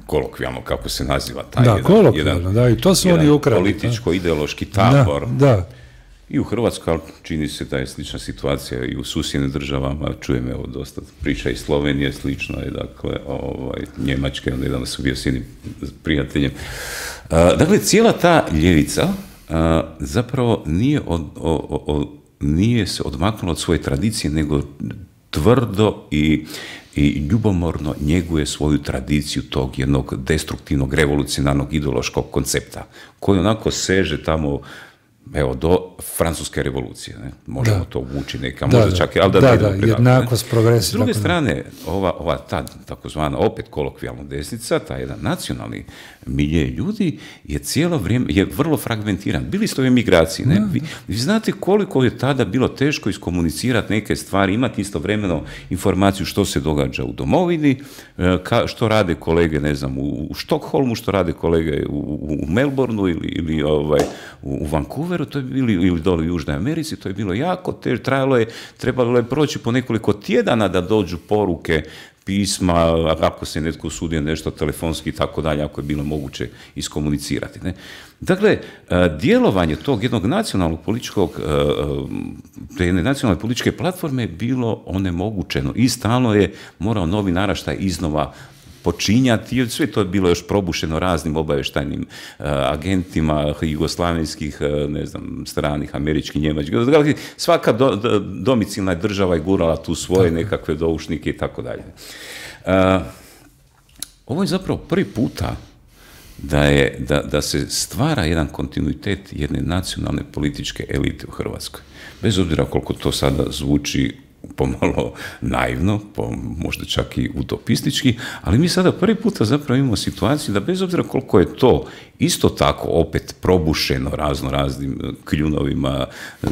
kolokvijalno kako se naziva taj
da,
jedan, jedan,
da, i to su oni ukrali,
političko-ideološki tabor.
Da, da.
I u Hrvatskoj, čini se da je slična situacija i u susjednim državama, čujem evo dosta priča iz Slovenije, slično je, dakle, ovaj, Njemačke, onda jedan su bio s jednim prijateljem. Uh, dakle, cijela ta ljevica uh, zapravo nije, od, o, o, nije se odmaknula od svoje tradicije, nego tvrdo i i ljubomorno njeguje svoju tradiciju tog jednog destruktivnog, revolucionarnog, ideološkog koncepta, koji onako seže tamo, evo, do francuske revolucije. Ne? Možemo da. to vući neka,
da,
možda
da.
čak i, ali da,
da,
da,
da jednakost, progres.
S druge strane, ova, ova ta takozvana opet kolokvijalna desnica, ta jedan nacionalni milje ljudi je cijelo vrijeme, je vrlo fragmentiran. Bili ste u emigraciji, ne? Vi, vi znate koliko je tada bilo teško iskomunicirati neke stvari, imati istovremeno informaciju što se događa u domovini, ka, što rade kolege, ne znam, u, u Štokholmu, što rade kolege u, u Melbourneu ili, ili ovaj, u, u Vancouveru, to je bili, ili dole u Južnoj Americi, to je bilo jako teško, trajalo je, trebalo je proći po nekoliko tjedana da dođu poruke, pisma, ako se netko usudio nešto telefonski i tako dalje, ako je bilo moguće iskomunicirati. Ne? Dakle, djelovanje tog jednog nacionalnog političkog, te jedne nacionalne političke platforme je bilo onemogućeno i stalno je morao novi naraštaj iznova počinjati, jer sve to je bilo još probušeno raznim obavještajnim uh, agentima jugoslavenskih, uh, ne znam, stranih, američkih, njemačkih. Svaka do, do, domicilna država je gurala tu svoje nekakve doušnike i tako dalje. Ovo je zapravo prvi puta da, je, da, da se stvara jedan kontinuitet jedne nacionalne političke elite u Hrvatskoj. Bez obzira koliko to sada zvuči pomalo naivno, po, možda čak i utopistički, ali mi sada prvi puta zapravo imamo situaciju da bez obzira koliko je to isto tako opet probušeno razno raznim kljunovima,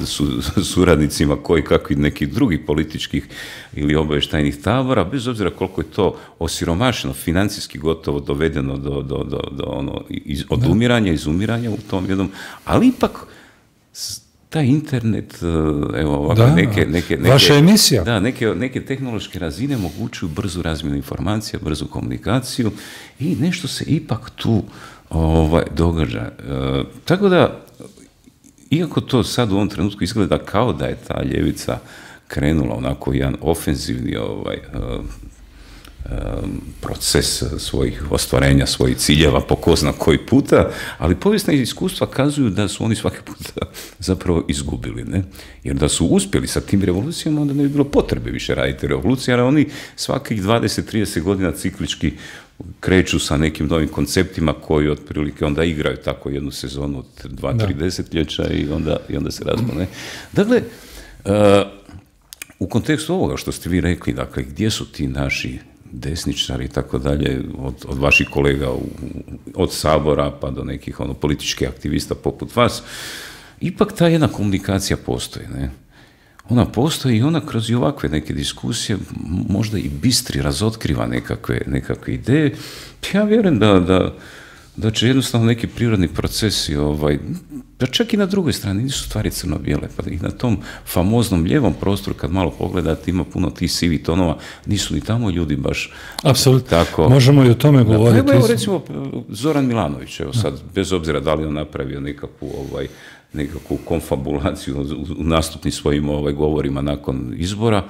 su, suradnicima koji kakvi nekih drugih političkih ili obavještajnih tabora, bez obzira koliko je to osiromašeno, financijski gotovo dovedeno do, do, do, do ono, iz, odumiranja, izumiranja u tom jednom, ali ipak taj internet, evo ovako,
da,
neke, neke, neke,
vaša emisija.
Da, neke, neke tehnološke razine omogućuju brzu razmjenu informacija, brzu komunikaciju i nešto se ipak tu ovaj, događa. E, tako da, iako to sad u ovom trenutku izgleda kao da je ta ljevica krenula onako jedan ofenzivni ovaj, uh, um, proces svojih ostvarenja, svojih ciljeva po ko zna koji puta, ali povijesna iskustva kazuju da su oni svaki puta zapravo izgubili, ne? Jer da su uspjeli sa tim revolucijama, onda ne bi bilo potrebe više raditi revolucije, jer oni svakih dvadeset do trideset godina ciklički kreću sa nekim novim konceptima koji otprilike onda igraju tako jednu sezonu od dva, tri desetljeća i onda, i onda se razbune. Dakle, uh, u kontekstu ovoga što ste vi rekli, dakle, gdje su ti naši desničari i tako dalje, od, od vaših kolega u, od Sabora pa do nekih ono, političkih aktivista poput vas, ipak ta jedna komunikacija postoji, ne? Ona postoji i ona kroz i ovakve neke diskusije možda i bistri razotkriva nekakve, nekakve ideje. Ja vjerujem da, da, da će jednostavno neki prirodni procesi, ovaj, da čak i na drugoj strani nisu stvari crno-bijele, pa i na tom famoznom lijevom prostoru kad malo pogledate ima puno tih sivih tonova, nisu ni tamo ljudi baš
apsolutno
tako.
Možemo i o tome govoriti.
Pa evo recimo Zoran Milanović, evo sad, bez obzira da li on napravio nekakvu ovaj, nekakvu konfabulaciju u nastupnim svojim ovaj, govorima nakon izbora,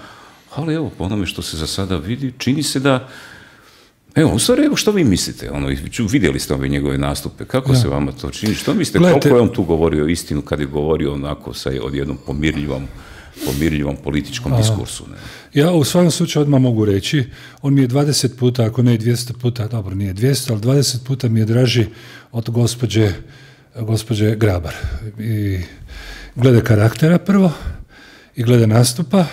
ali evo, po onome što se za sada vidi, čini se da, evo, u stvari, evo što vi mislite, ono, vidjeli ste ove njegove nastupe, kako ja. se vama to čini, što mislite, Gledajte, koliko je on tu govorio istinu kad je govorio onako sa odjednom pomirljivom, pomirljivom političkom diskursu? Ne?
Ja u svakom slučaju odmah mogu reći, on mi je dvadeset puta, ako ne i dvjesto puta, dobro, nije dvjesto, ali dvadeset puta mi je draži od gospođe gospođe Grabar. I glede karaktera prvo i glede nastupa.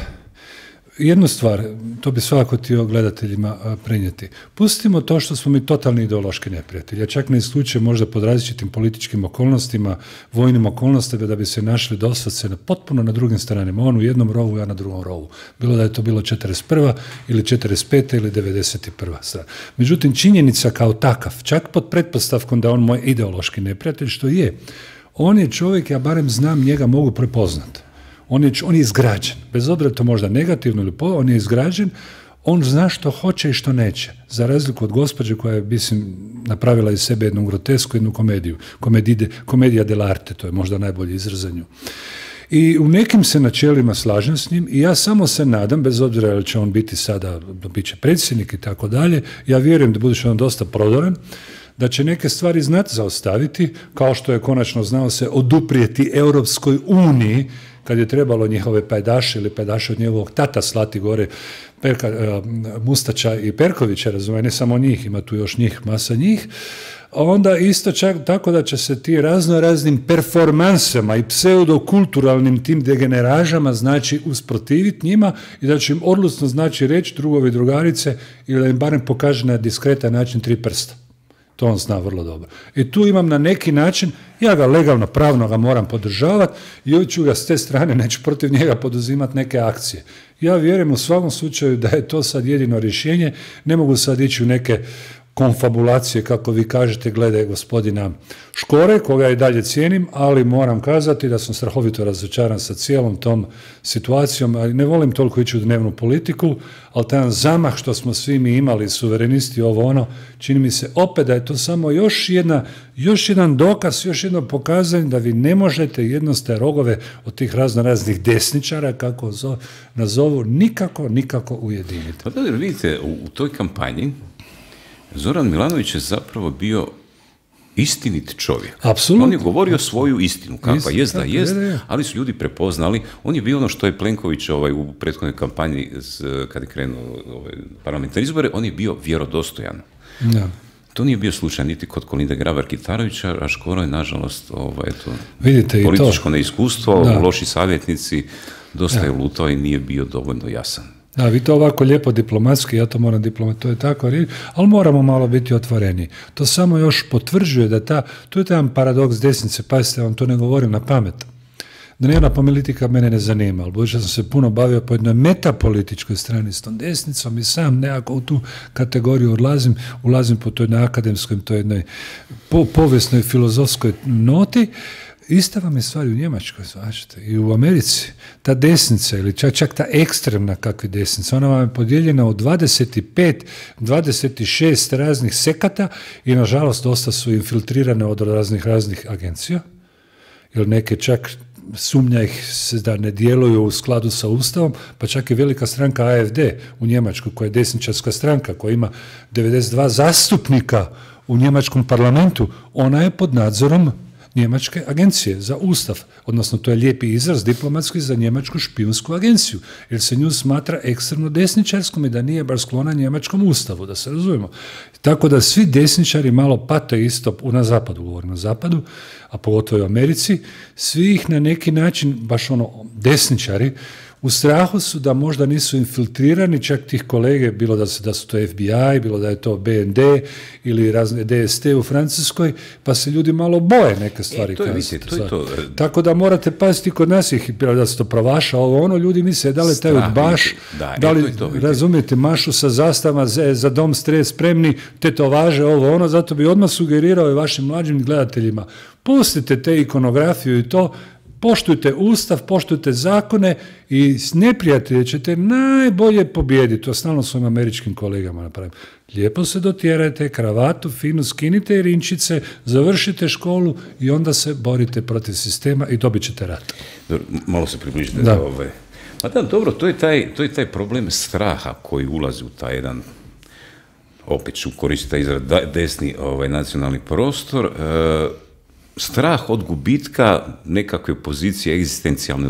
Jednu stvar, to bi svakako htio gledateljima prenijeti. Pustimo to što smo mi totalni ideološki neprijatelji. Ja čak ne isključujem možda pod različitim političkim okolnostima, vojnim okolnostima da bi se našli doslovce na potpuno na drugim stranama. On u jednom rovu, ja na drugom rovu. Bilo da je to bilo četrdeset prva ili četrdeset peta ili devedeset prva strana. Međutim, činjenica kao takav, čak pod pretpostavkom da on moj ideološki neprijatelj, što je, on je čovjek, ja barem znam, njega mogu prepoznati. On je, on je izgrađen, bez obzira to možda negativno ili po, on je izgrađen, on zna što hoće i što neće, za razliku od gospođe koja je, mislim, napravila iz sebe jednu grotesku, jednu komediju, komedide, komedija dell'arte, to je možda najbolji izraz za nju. I u nekim se načelima slažem s njim i ja samo se nadam, bez obzira da će on biti sada, bit će predsjednik i tako dalje, ja vjerujem da budući on dosta prodoran, da će neke stvari znati zaostaviti, kao što je konačno znao se oduprijeti Europskoj uniji, kad je trebalo njihove pajdaše ili pajdaše od njegovog tata slati gore, Perka, uh, Mustača i Perkovića, razumije, ne samo njih, ima tu još njih, masa njih, onda isto čak tako da će se ti razno raznim performansama i pseudokulturalnim tim degeneražama znači usprotiviti njima i da će im odlučno znači reći drugovi i drugarice ili da im barem pokaže na diskretan način tri prsta. To on zna vrlo dobro. I tu imam na neki način, ja ga legalno, pravno ga moram podržavati i ću ga s te strane, neću protiv njega poduzimati neke akcije. Ja vjerujem u svakom slučaju da je to sad jedino rješenje, ne mogu sad ići u neke konfabulacije, kako vi kažete, glede gospodina Škore, koga i dalje cijenim, ali moram kazati da sam strahovito razočaran sa cijelom tom situacijom, ali ne volim toliko ići u dnevnu politiku, ali taj zamah što smo svi mi imali, suverenisti, ovo ono, čini mi se opet da je to samo još jedna, još jedan dokaz, još jedno pokazanje da vi ne možete jednostavne rogove od tih razno raznih desničara, kako zo, nazovu, nikako, nikako ujediniti.
Pa da, vidite, u, u toj kampanji Zoran Milanović je zapravo bio istinit čovjek.
Apsolutno.
On je govorio svoju istinu, kakva jest da jest, ali su ljudi prepoznali. On je bio ono što je Plenković ovaj, u prethodnoj kampanji, kad je krenuo ovaj, parlamentarne izbore, on je bio vjerodostojan.
Da.
To nije bio slučaj niti kod Kolinde Grabar-Kitarovića, a Škoro je, nažalost, ovaj, eto,
vidite,
političko neiskustvo, da. Loši savjetnici, dosta da. je lutao i nije bio dovoljno jasan.
Da, vi to ovako lijepo diplomatski, ja to moram diplomat, to je tako, ali moramo malo biti otvoreni. To samo još potvrđuje da ta, to je jedan paradoks desnice, pazite, vam to ne govorim na pamet. Dnevna politika mene ne zanima, ali budući sam se puno bavio po jednoj metapolitičkoj strani s tom desnicom i sam nekako u tu kategoriju ulazim, ulazim po toj jednoj akademskoj, toj jednoj po, povijesnoj, filozofskoj noti. Ista vam je stvar u Njemačkoj, značite, i u Americi. Ta desnica, ili čak, čak ta ekstremna kakva desnica, ona vam je podijeljena u dvadeset pet, dvadeset šest raznih sekata i, nažalost, dosta su infiltrirane od raznih raznih agencija, jer neke čak sumnja ih se da ne djeluju u skladu sa Ustavom, pa čak i velika stranka A F D u Njemačkoj, koja je desničarska stranka, koja ima devedeset dva zastupnika u njemačkom parlamentu, ona je pod nadzorom njemačke agencije za Ustav, odnosno to je lijepi izraz diplomatski za njemačku špijunsku agenciju, jer se nju smatra ekstremno desničarskom i da nije baš sklona njemačkom Ustavu, da se razumijemo. Tako da svi desničari malo pate isto, na zapadu, govorimo o zapadu, a pogotovo u Americi, svi ih na neki način, baš ono, desničari, u strahu su da možda nisu infiltrirani, čak tih kolege, bilo da su, da su to F B I, bilo da je to B N D ili razne D S T u Francuskoj, pa se ljudi malo boje neke stvari.
E, to je, vidite, to je to.
Tako da morate paziti kod nas ih, da se to provaša, ovo ono, ljudi misle da li taj baš,
da,
da li,
e, to to,
razumijete, mašu sa zastavama za, za dom stres spremni, te to važe, ovo ono, zato bi odmah sugerirao i vašim mlađim gledateljima, pustite te ikonografiju i to, poštujte Ustav, poštujte zakone i s neprijatelje ćete najbolje pobijediti. To stalno svojim američkim kolegama napravim. Lijepo se dotjerajte, kravatu, finu skinite rinčice, završite školu i onda se borite protiv sistema i dobit ćete rat.
Dobro, malo se približite. Da. Ove. Pa da, dobro, to je, taj, to je taj problem straha koji ulazi u taj jedan, opet ću koristiti taj izraz, desni ovaj, nacionalni prostor, e, strah od gubitka nekakve pozicije egzistencijalne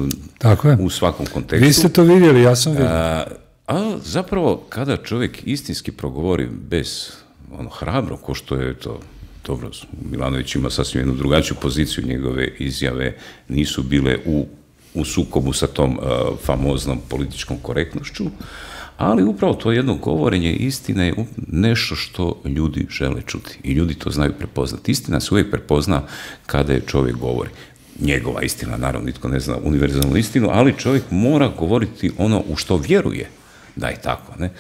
u svakom kontekstu.
Vi ste to vidjeli, ja sam vidio.
A, a zapravo, kada čovjek istinski progovori bez ono, hrabro, ko što je to, dobro, Milanović ima sasvim jednu drugačiju poziciju, njegove izjave nisu bile u, u sukobu sa tom uh, famoznom političkom korektnošću, ali upravo to jedno govorenje istine je nešto što ljudi žele čuti i ljudi to znaju prepoznati. Istina se uvijek prepozna kada je čovjek govori. Njegova istina, naravno, nitko ne zna univerzalnu istinu, ali čovjek mora govoriti ono u što vjeruje da je tako, ne?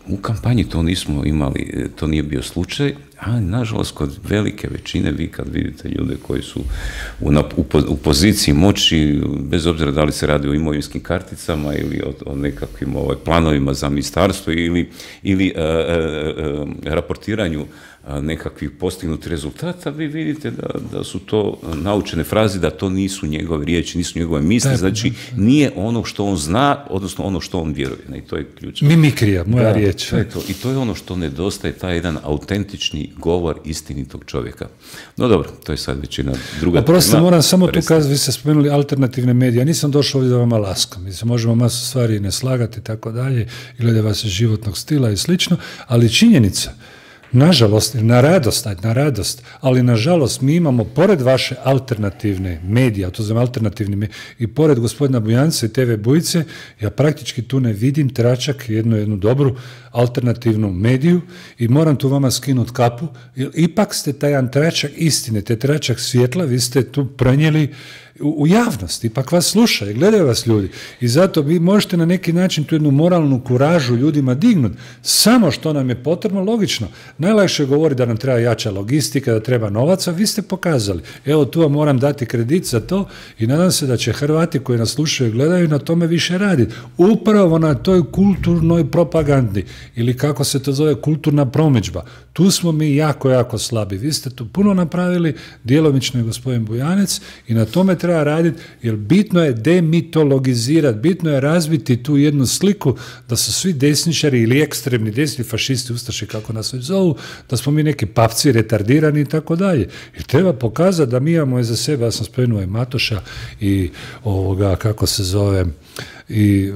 U kampanji to nismo imali, to nije bio slučaj, ali nažalost kod velike većine, vi kad vidite ljude koji su u, u, u poziciji moći, bez obzira da li se radi o imovinskim karticama ili o, o nekakvim ovaj, planovima za ministarstvo ili, ili a, a, a, raportiranju a, nekakvih postignutih rezultata, vi vidite da, da su to naučene fraze, da to nisu njegove riječi, nisu njegove misli, znači nije ono što on zna, odnosno ono što on vjeruje. Ne, i to je ključno.
Mimikrija, moja da, riječ.
To je to. I to je ono što nedostaje, taj jedan autentični govor istinitog čovjeka. No dobro, to je sad većina druga.
Oprostite, moram samo tu kazati, vi ste spomenuli alternativne medije. Ja nisam došao ovdje da vama laskam. Mi se možemo masu stvari ne slagati i tako dalje, i glede vas životnog stila i slično, ali činjenica, nažalost, na radost, na radost, ali nažalost mi imamo, pored vaše alternativne medije, to znam alternativni medije, i pored gospodina Bujanca i T V Bujice, ja praktički tu ne vidim tračak, jednu, jednu dobru alternativnu mediju i moram tu vama skinuti kapu, jer ipak ste taj jedan tračak istine, te tračak svjetla, vi ste tu prenijeli u, u javnost, ipak vas slušaju, gledaju vas ljudi i zato vi možete na neki način tu jednu moralnu kuražu ljudima dignuti, samo što nam je potrebno, logično. Najlakše govori da nam treba jača logistika, da treba novaca, vi ste pokazali. Evo, tu vam moram dati kredit za to i nadam se da će Hrvati koji nas slušaju i gledaju na tome više raditi. Upravo na toj kulturnoj propagandi ili kako se to zove, kulturna promidžba. Tu smo mi jako, jako slabi. Vi ste tu puno napravili, djelomično je gospodin Bujanec i na tome treba raditi, jer bitno je demitologizirati, bitno je razbiti tu jednu sliku da su svi desničari ili ekstremni desni fašisti, ustaše, kako nas već zovu, da smo mi neki papci, retardirani i tako dalje. I treba pokazati da mi imamo iza sebe, ja sam spomenuo i Matoša i ovoga, kako se zove, i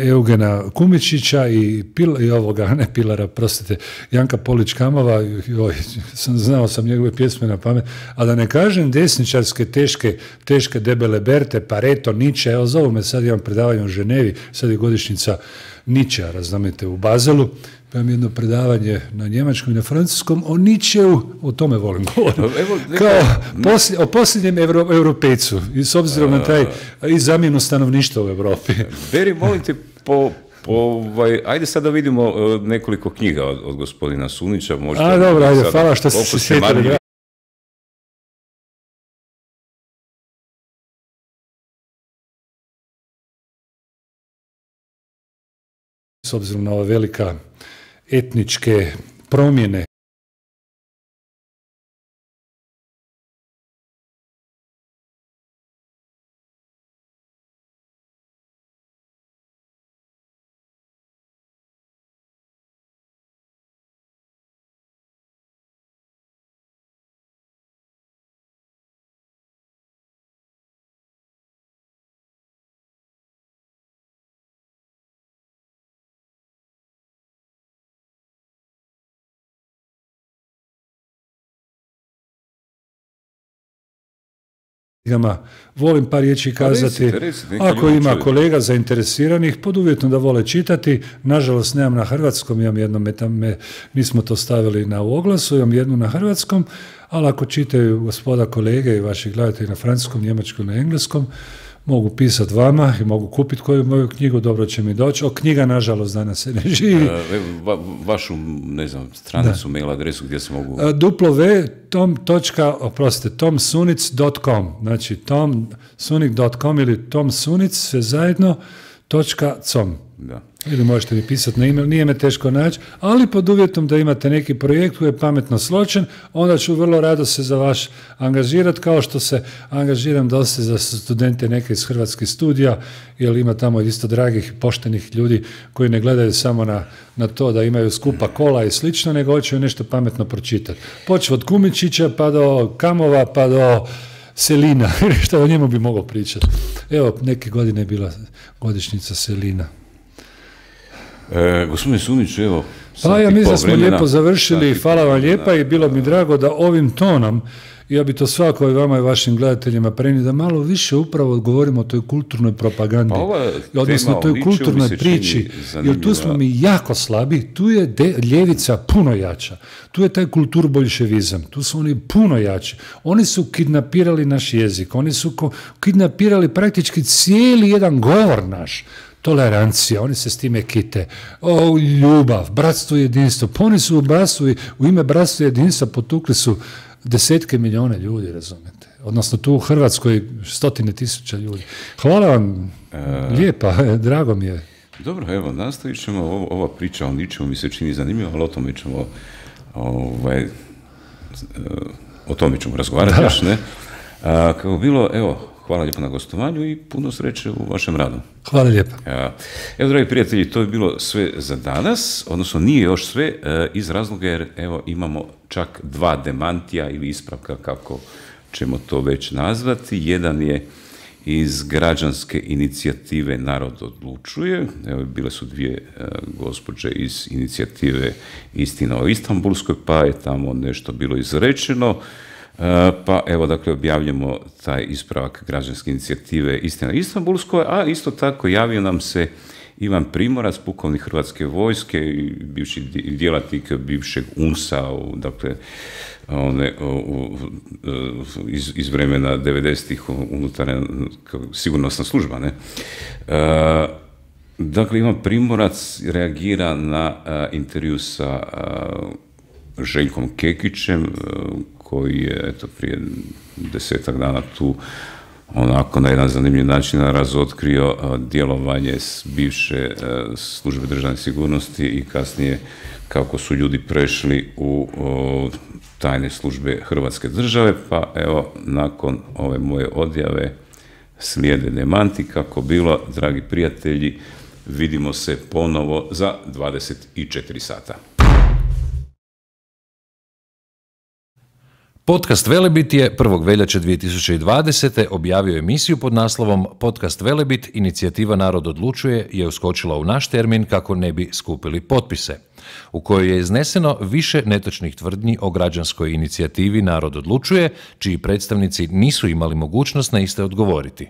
Eugena Kumičića i, Pil, i ovoga, ne Pilara, prostite, Janka Polić-Kamova, joj, sam, znao sam njegove pjesme na pamet, a da ne kažem desničarske, teške, teške debele Berte, Pareto, Nietzsche, evo zovu me, sad imam predavanje u Ženevi, sad je godišnjica Nietzschea, razumijete, u Bazelu, pa imam jedno predavanje na njemačkom i na francuskom o Nietzscheu, o tome volim govoriti, kao poslj, o posljednjem Euro, europejcu, i s obzirom na taj i zamjenu stanovništva u Europi.
Beri, molim te, po, po, ovaj, ajde sad da vidimo nekoliko knjiga od, od gospodina Sunića.
A, dobro, ajde, hvala što ste se sjetili. s obzirom na ove velika etničke promjene. Volim par riječi kazati, recite, recite, ako ima čuju. Kolega zainteresiranih, pod uvjetom da vole čitati, nažalost nemam na hrvatskom, imam jedno, me, nismo to stavili na oglasu, imam jednu na hrvatskom, ali ako čitaju gospoda kolege i vaši gledatelji na francuskom, njemačkom, na engleskom, mogu pisati vama i mogu kupiti koju moju knjigu, dobro će mi doći. O, knjiga, nažalost, danas se ne živi.
Uh, va, vašu, ne znam, stranicu, da. Mail adresu gdje se mogu...
Uh, w tom točka, oprostite, tom sunic dot com, znači tom sunic dot com ili tomsunic, sve zajedno, točka com. Da. Ili možete mi pisati na email, nije me teško naći, ali pod uvjetom da imate neki projekt koji je pametno sločen, onda ću vrlo rado se za vaš angažirati, kao što se angažiram dosta za studente neke iz hrvatskih studija, jer ima tamo isto dragih, poštenih ljudi koji ne gledaju samo na, na to da imaju skupa kola i slično, nego hoće nešto pametno pročitati. Počeo od Kumičića pa do Kamova pa do Selina, što o njemu bi mogao pričati. Evo, neke godine je bila godišnjica Selina.
E, gospodine Sunić, evo...
Pa ja mislim da smo vremena, lijepo završili, hvala vam lijepa i bilo mi drago da ovim tonom, ja bi to svako i vama i vašim gledateljima prenio, da malo više upravo odgovorimo o toj kulturnoj propagandi, pa odnosno toj kulturnoj priči, jer tu smo mi jako slabi, tu je de, ljevica puno jača, tu je taj kulturbolševizam, tu su oni puno jači, oni su kidnapirali naš jezik, oni su ko, kidnapirali praktički cijeli jedan govor naš, tolerancija, oni se s time kite, o, ljubav, bratstvo i jedinstvo, pa oni su u bratstvu, u ime bratstva i jedinstva potukli su desetke milijone ljudi, razumete, odnosno tu u Hrvatskoj stotine tisuća ljudi. Hvala vam, e... lijepa, drago mi je.
Dobro, evo, nastavit ćemo, ovo, ova priča o ničemu mi se čini zanimljivo, ali o tome ćemo, ovaj, o tome ćemo razgovarati još, ne? A, kako bilo, evo, hvala lijepo na gostovanju i puno sreće u vašem radu.
Hvala lijepo.
Evo, dragi prijatelji, to je bilo sve za danas, odnosno nije još sve, iz razloga jer evo imamo čak dva demantija ili ispravka, kako ćemo to već nazvati. Jedan je iz građanske inicijative Narod odlučuje. Evo, bile su dvije gospođe iz inicijative Istina o Istanbulskoj, pa je tamo nešto bilo izrečeno. Pa evo, dakle, objavljamo taj ispravak građanske inicijative Istina o Istanbulskoj, a isto tako javio nam se Ivan Primorac, pukovnik Hrvatske vojske i bivši djelatnik bivšeg U N S A, dakle, one, iz, iz vremena devedesetih unutarnja sigurnosna služba, ne? Dakle, Ivan Primorac reagira na intervju sa Željkom Kekićem, koji je eto, prije desetak dana tu onako na jedan zanimljiv način razotkrio djelovanje bivše službe državne sigurnosti i kasnije kako su ljudi prešli u tajne službe Hrvatske države, pa evo, nakon ove moje odjave slijede demanti. Kako bilo, dragi prijatelji, vidimo se ponovo za dvadeset četiri sata.
Podcast Velebit je prvog veljače dvije tisuće dvadesete. objavio emisiju pod naslovom Podcast Velebit, inicijativa Narod odlučuje je uskočila u naš termin kako ne bi skupili potpise, u kojoj je izneseno više netočnih tvrdnji o građanskoj inicijativi Narod odlučuje, čiji predstavnici nisu imali mogućnost na iste odgovoriti.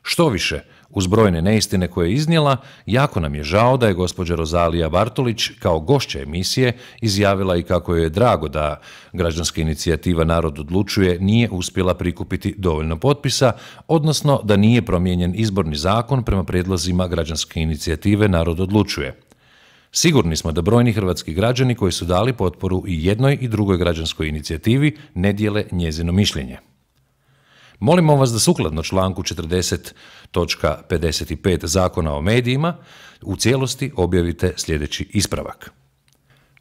Što više, uz brojne neistine koje je iznijela, jako nam je žao da je gospođa Rozalija Bartolić kao gošća emisije izjavila i kako joj je drago da građanska inicijativa Narod odlučuje nije uspjela prikupiti dovoljno potpisa, odnosno da nije promijenjen izborni zakon prema prijedlozima građanske inicijative Narod odlučuje. Sigurni smo da brojni hrvatski građani koji su dali potporu i jednoj i drugoj građanskoj inicijativi ne dijele njezino mišljenje. Molimo vas da sukladno članku četrdeset točka pedeset pet Zakona o medijima u cijelosti objavite sljedeći ispravak.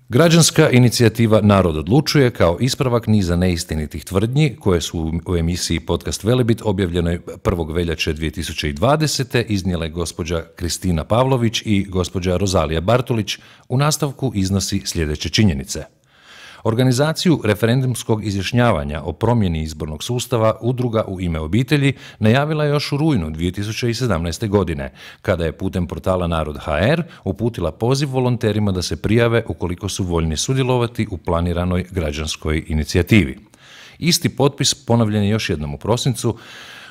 Građanska inicijativa Narod odlučuje kao ispravak niza neistinitih tvrdnji koje su u emisiji Podcast Velebit objavljenoj prvog veljače dvije tisuće dvadesete iznijele gospođa Kristina Pavlović i gospođa Rozalija Bartolić, u nastavku iznosi sljedeće činjenice. Organizaciju referendumskog izjašnjavanja o promjeni izbornog sustava Udruga u ime obitelji najavila je još u rujnu dvije tisuće sedamnaeste. godine, kada je putem portala Narod ha er uputila poziv volonterima da se prijave ukoliko su voljni sudjelovati u planiranoj građanskoj inicijativi. Isti potpis ponavljen je još jednom u prosincu.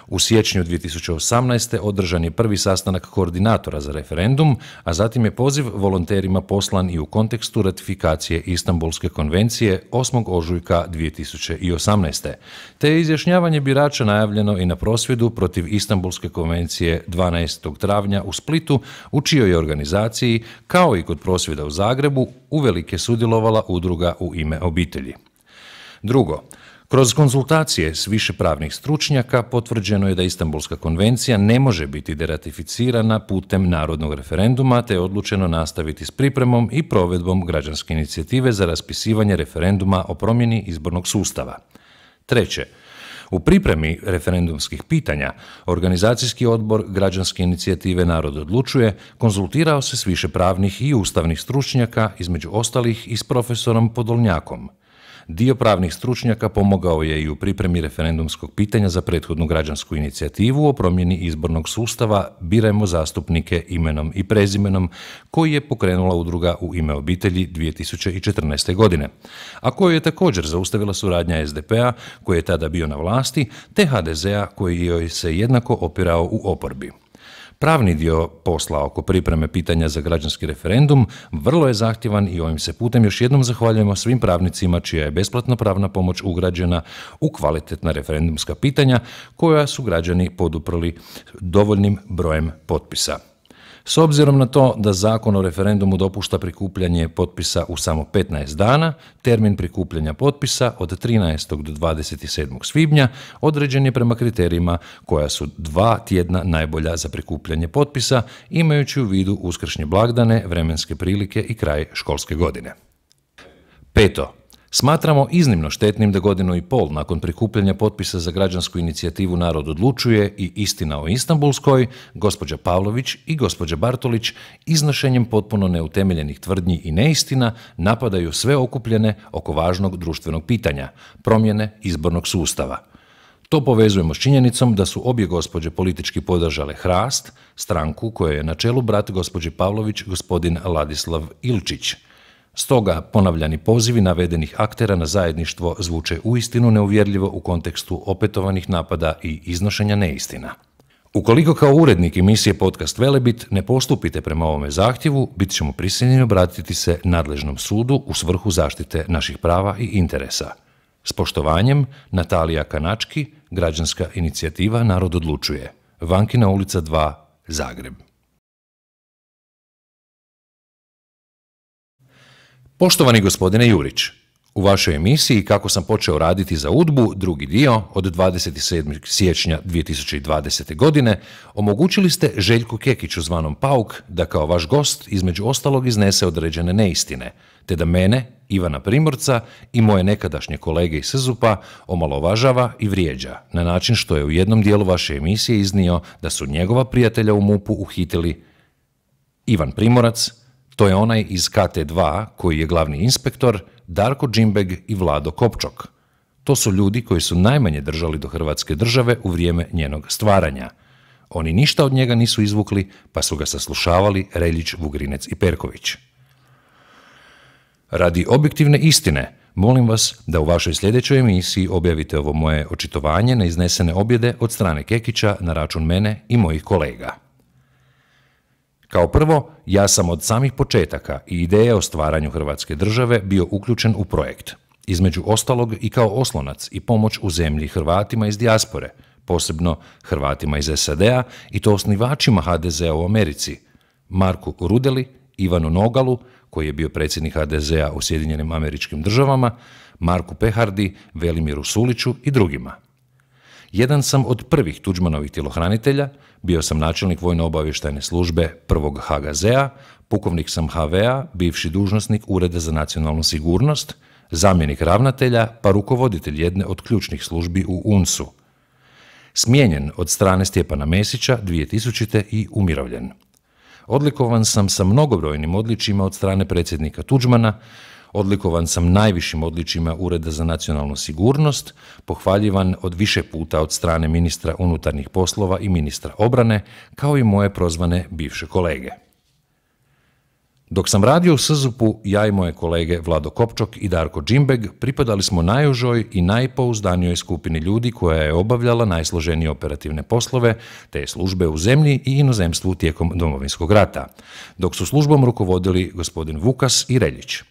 U siječnju dvije tisuće osamnaeste. održan je prvi sastanak koordinatora za referendum, a zatim je poziv volonterima poslan i u kontekstu ratifikacije Istanbulske konvencije osmog ožujka dvije tisuće osamnaeste. Te je izjašnjavanje birača najavljeno i na prosvjedu protiv Istanbulske konvencije dvanaestog travnja u Splitu, u čijoj organizaciji, kao i kod prosvjeda u Zagrebu, uvelike sudjelovala Udruga u ime obitelji. Drugo, kroz konzultacije s više pravnih stručnjaka potvrđeno je da Istanbulska konvencija ne može biti deratificirana putem narodnog referenduma, te je odlučeno nastaviti s pripremom i provedbom građanske inicijative za raspisivanje referenduma o promjeni izbornog sustava. Treće, u pripremi referendumskih pitanja, organizacijski odbor građanske inicijative Narod odlučuje konzultirao se s više pravnih i ustavnih stručnjaka, između ostalih i s profesorom Podolnjakom. Dio pravnih stručnjaka pomogao je i u pripremi referendumskog pitanja za prethodnu građansku inicijativu o promjeni izbornog sustava Birajmo zastupnike imenom i prezimenom, koji je pokrenula Udruga u ime obitelji dvije tisuće četrnaeste. godine, a koju je također zaustavila suradnja es de pe a, koji je tada bio na vlasti, te ha de ze a, koji joj se jednako opirao u oporbi. Pravni dio posla oko pripreme pitanja za građanski referendum vrlo je zahtjevan i ovim se putem još jednom zahvaljujemo svim pravnicima čija je besplatna pravna pomoć ugrađena u kvalitetna referendumska pitanja koja su građani poduprli dovoljnim brojem potpisa. S obzirom na to da Zakon o referendumu dopušta prikupljanje potpisa u samo petnaest dana, termin prikupljanja potpisa od trinaestog do dvadeset sedmog svibnja određen je prema kriterijima koja su dva tjedna najbolja za prikupljanje potpisa, imajući u vidu uskršnje blagdane, vremenske prilike i kraj školske godine. Peto. Smatramo iznimno štetnim da godinu i pol nakon prikupljanja potpisa za građansku inicijativu Narod odlučuje i Istina o Istanbulskoj, gospođa Pavlović i gospođa Bartolić iznošenjem potpuno neutemeljenih tvrdnji i neistina napadaju sve okupljene oko važnog društvenog pitanja, promjene izbornog sustava. To povezujemo s činjenicom da su obje gospođe politički podržale Hrast, stranku koje je na čelu brat gospođi Pavlović, gospodin Ladislav Ilčić. Stoga ponavljani pozivi navedenih aktera na zajedništvo zvuče uistinu neuvjerljivo u kontekstu opetovanih napada i iznošenja neistina. Ukoliko kao urednik emisije Podcast Velebit ne postupite prema ovome zahtjevu, bit ćemo prisiljeni obratiti se nadležnom sudu u svrhu zaštite naših prava i interesa. S poštovanjem, Natalija Kanački, građanska inicijativa Narod odlučuje. Vankina ulica dva, Zagreb. Poštovani gospodine Jurić, u vašoj emisiji Kako sam počeo raditi za udbu, drugi dio, od dvadeset sedmog siječnja dvije tisuće dvadesete. godine, omogućili ste Željku Kekiću zvanom Pauk da kao vaš gost između ostalog iznese određene neistine, te da mene, Ivana Primorca i moje nekadašnje kolege iz es u pe a omalovažava i vrijeđa, na način što je u jednom dijelu vaše emisije iznio da su njegova prijatelja u mupu uhitili Ivan Primorac, to je onaj iz ka te dva koji je glavni inspektor, Darko Džimbeg i Vlado Kopčok. To su ljudi koji su najmanje držali do Hrvatske države u vrijeme njenog stvaranja. Oni ništa od njega nisu izvukli, pa su ga saslušavali Reljić, Vugrinec i Perković. Radi objektivne istine, molim vas da u vašoj sljedećoj emisiji objavite ovo moje očitovanje na iznesene objede od strane Kekića na račun mene i mojih kolega. Kao prvo, ja sam od samih početaka i ideje o stvaranju Hrvatske države bio uključen u projekt, između ostalog i kao oslonac i pomoć u zemlji Hrvatima iz dijaspore, posebno Hrvatima iz es a de a i to osnivačima ha de ze a u Americi, Marku Rudeli, Ivanu Nogalu, koji je bio predsjednik ha de ze a u Sjedinjenim Američkim Državama, Marku Pehardi, Velimiru Suliću i drugima. Jedan sam od prvih Tuđmanovih tjelohranitelja, bio sam načelnik vojno-obavještajne službe prvog ha ga zea, pukovnik sam ha ve a, bivši dužnosnik Ureda za nacionalnu sigurnost, zamjenik ravnatelja pa rukovoditelj jedne od ključnih službi u u en es u. Smijenjen od strane Stjepana Mesića dvije tisućite. i umirovljen. Odlikovan sam sa mnogobrojnim odličjima od strane predsjednika Tuđmana, odlikovan sam najvišim odličjima Ureda za nacionalnu sigurnost, pohvaljivan od više puta od strane ministra unutarnjih poslova i ministra obrane, kao i moje prozvane bivše kolege. Dok sam radio u es z u pe-u, ja i moje kolege Vlado Kopčok i Darko Džimbeg pripadali smo najužoj i najpouzdanijoj skupini ljudi koja je obavljala najsloženije operativne poslove te službe u zemlji i inozemstvu tijekom Domovinskog rata, dok su službom rukovodili gospodin Vukas i Reljić.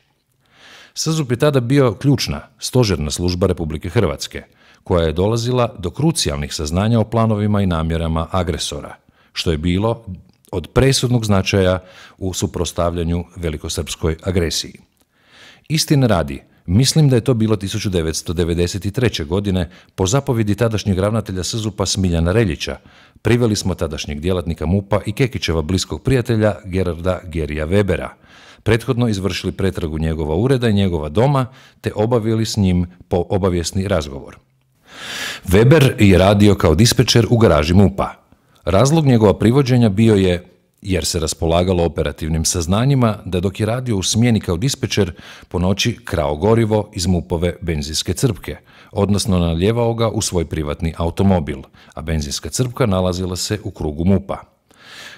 es z u pe je tada bio ključna, stožerna služba Republike Hrvatske, koja je dolazila do krucijalnih saznanja o planovima i namjerama agresora, što je bilo od presudnog značaja u suprotstavljanju velikosrpskoj agresiji. Istine radi, mislim da je to bilo tisuću devetsto devedeset treće. godine po zapovjedi tadašnjeg ravnatelja es z u pe-a Smiljana Reljića. Priveli smo tadašnjeg djelatnika MUP-a i Kekićeva bliskog prijatelja Gerarda Gerija Webera, prethodno izvršili pretragu njegova ureda i njegova doma, te obavili s njim po obavijesni razgovor. Weber je radio kao dispečer u garaži MUP-a. Razlog njegova privođenja bio je jer se raspolagalo operativnim saznanjima da dok je radio u smjeni kao dispečer po noći krao gorivo iz MUP-ove benzinske crpke, odnosno nalijevao ga u svoj privatni automobil, a benzinska crpka nalazila se u krugu MUP-a.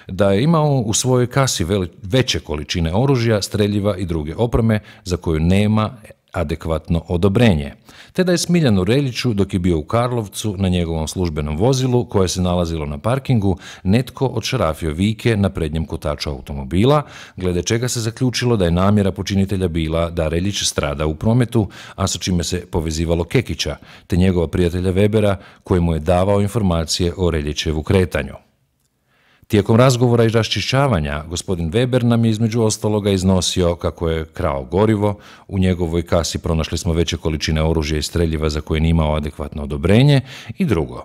Da je imao u svojoj kasi veće količine oružja, streljiva i druge opreme za koju nema adekvatno odobrenje, te da je Smiljanu Reljiću, dok je bio u Karlovcu na njegovom službenom vozilu koje se nalazilo na parkingu, netko odšarafio vike na prednjem kotaču automobila, glede čega se zaključilo da je namjera počinitelja bila da Reljić strada u prometu, a sa čime se povezivalo Kekića, te njegova prijatelja Webera, koji mu je davao informacije o Reljićevu kretanju. Tijekom razgovora i raščišćavanja, gospodin Weber nam je između ostaloga iznosio kako je krao gorivo, u njegovoj kasi pronašli smo veće količine oružja i streljiva za koje nije imao adekvatno odobrenje i drugo.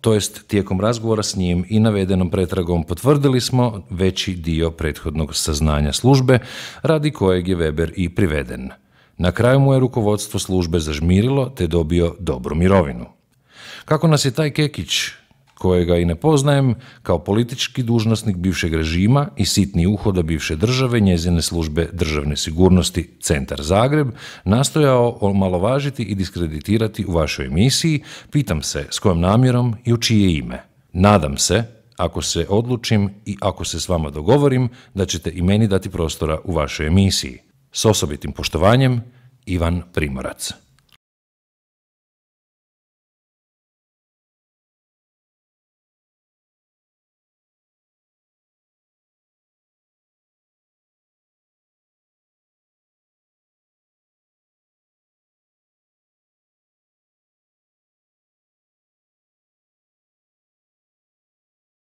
To jest, tijekom razgovora s njim i navedenom pretragom potvrdili smo veći dio prethodnog saznanja službe, radi kojeg je Weber i priveden. Na kraju mu je rukovodstvo službe zažmirilo te dobio dobru mirovinu. Kako nas je taj Kekić, kojega i ne poznajem, kao politički dužnosnik bivšeg režima i sitni uhoda bivše države, njezine službe državne sigurnosti Centar Zagreb, nastojao omalovažiti i diskreditirati u vašoj emisiji, pitam se s kojom namjerom i u čije ime. Nadam se, ako se odlučim i ako se s vama dogovorim, da ćete i meni dati prostora u vašoj emisiji. S osobitim poštovanjem, Ivan Primorac.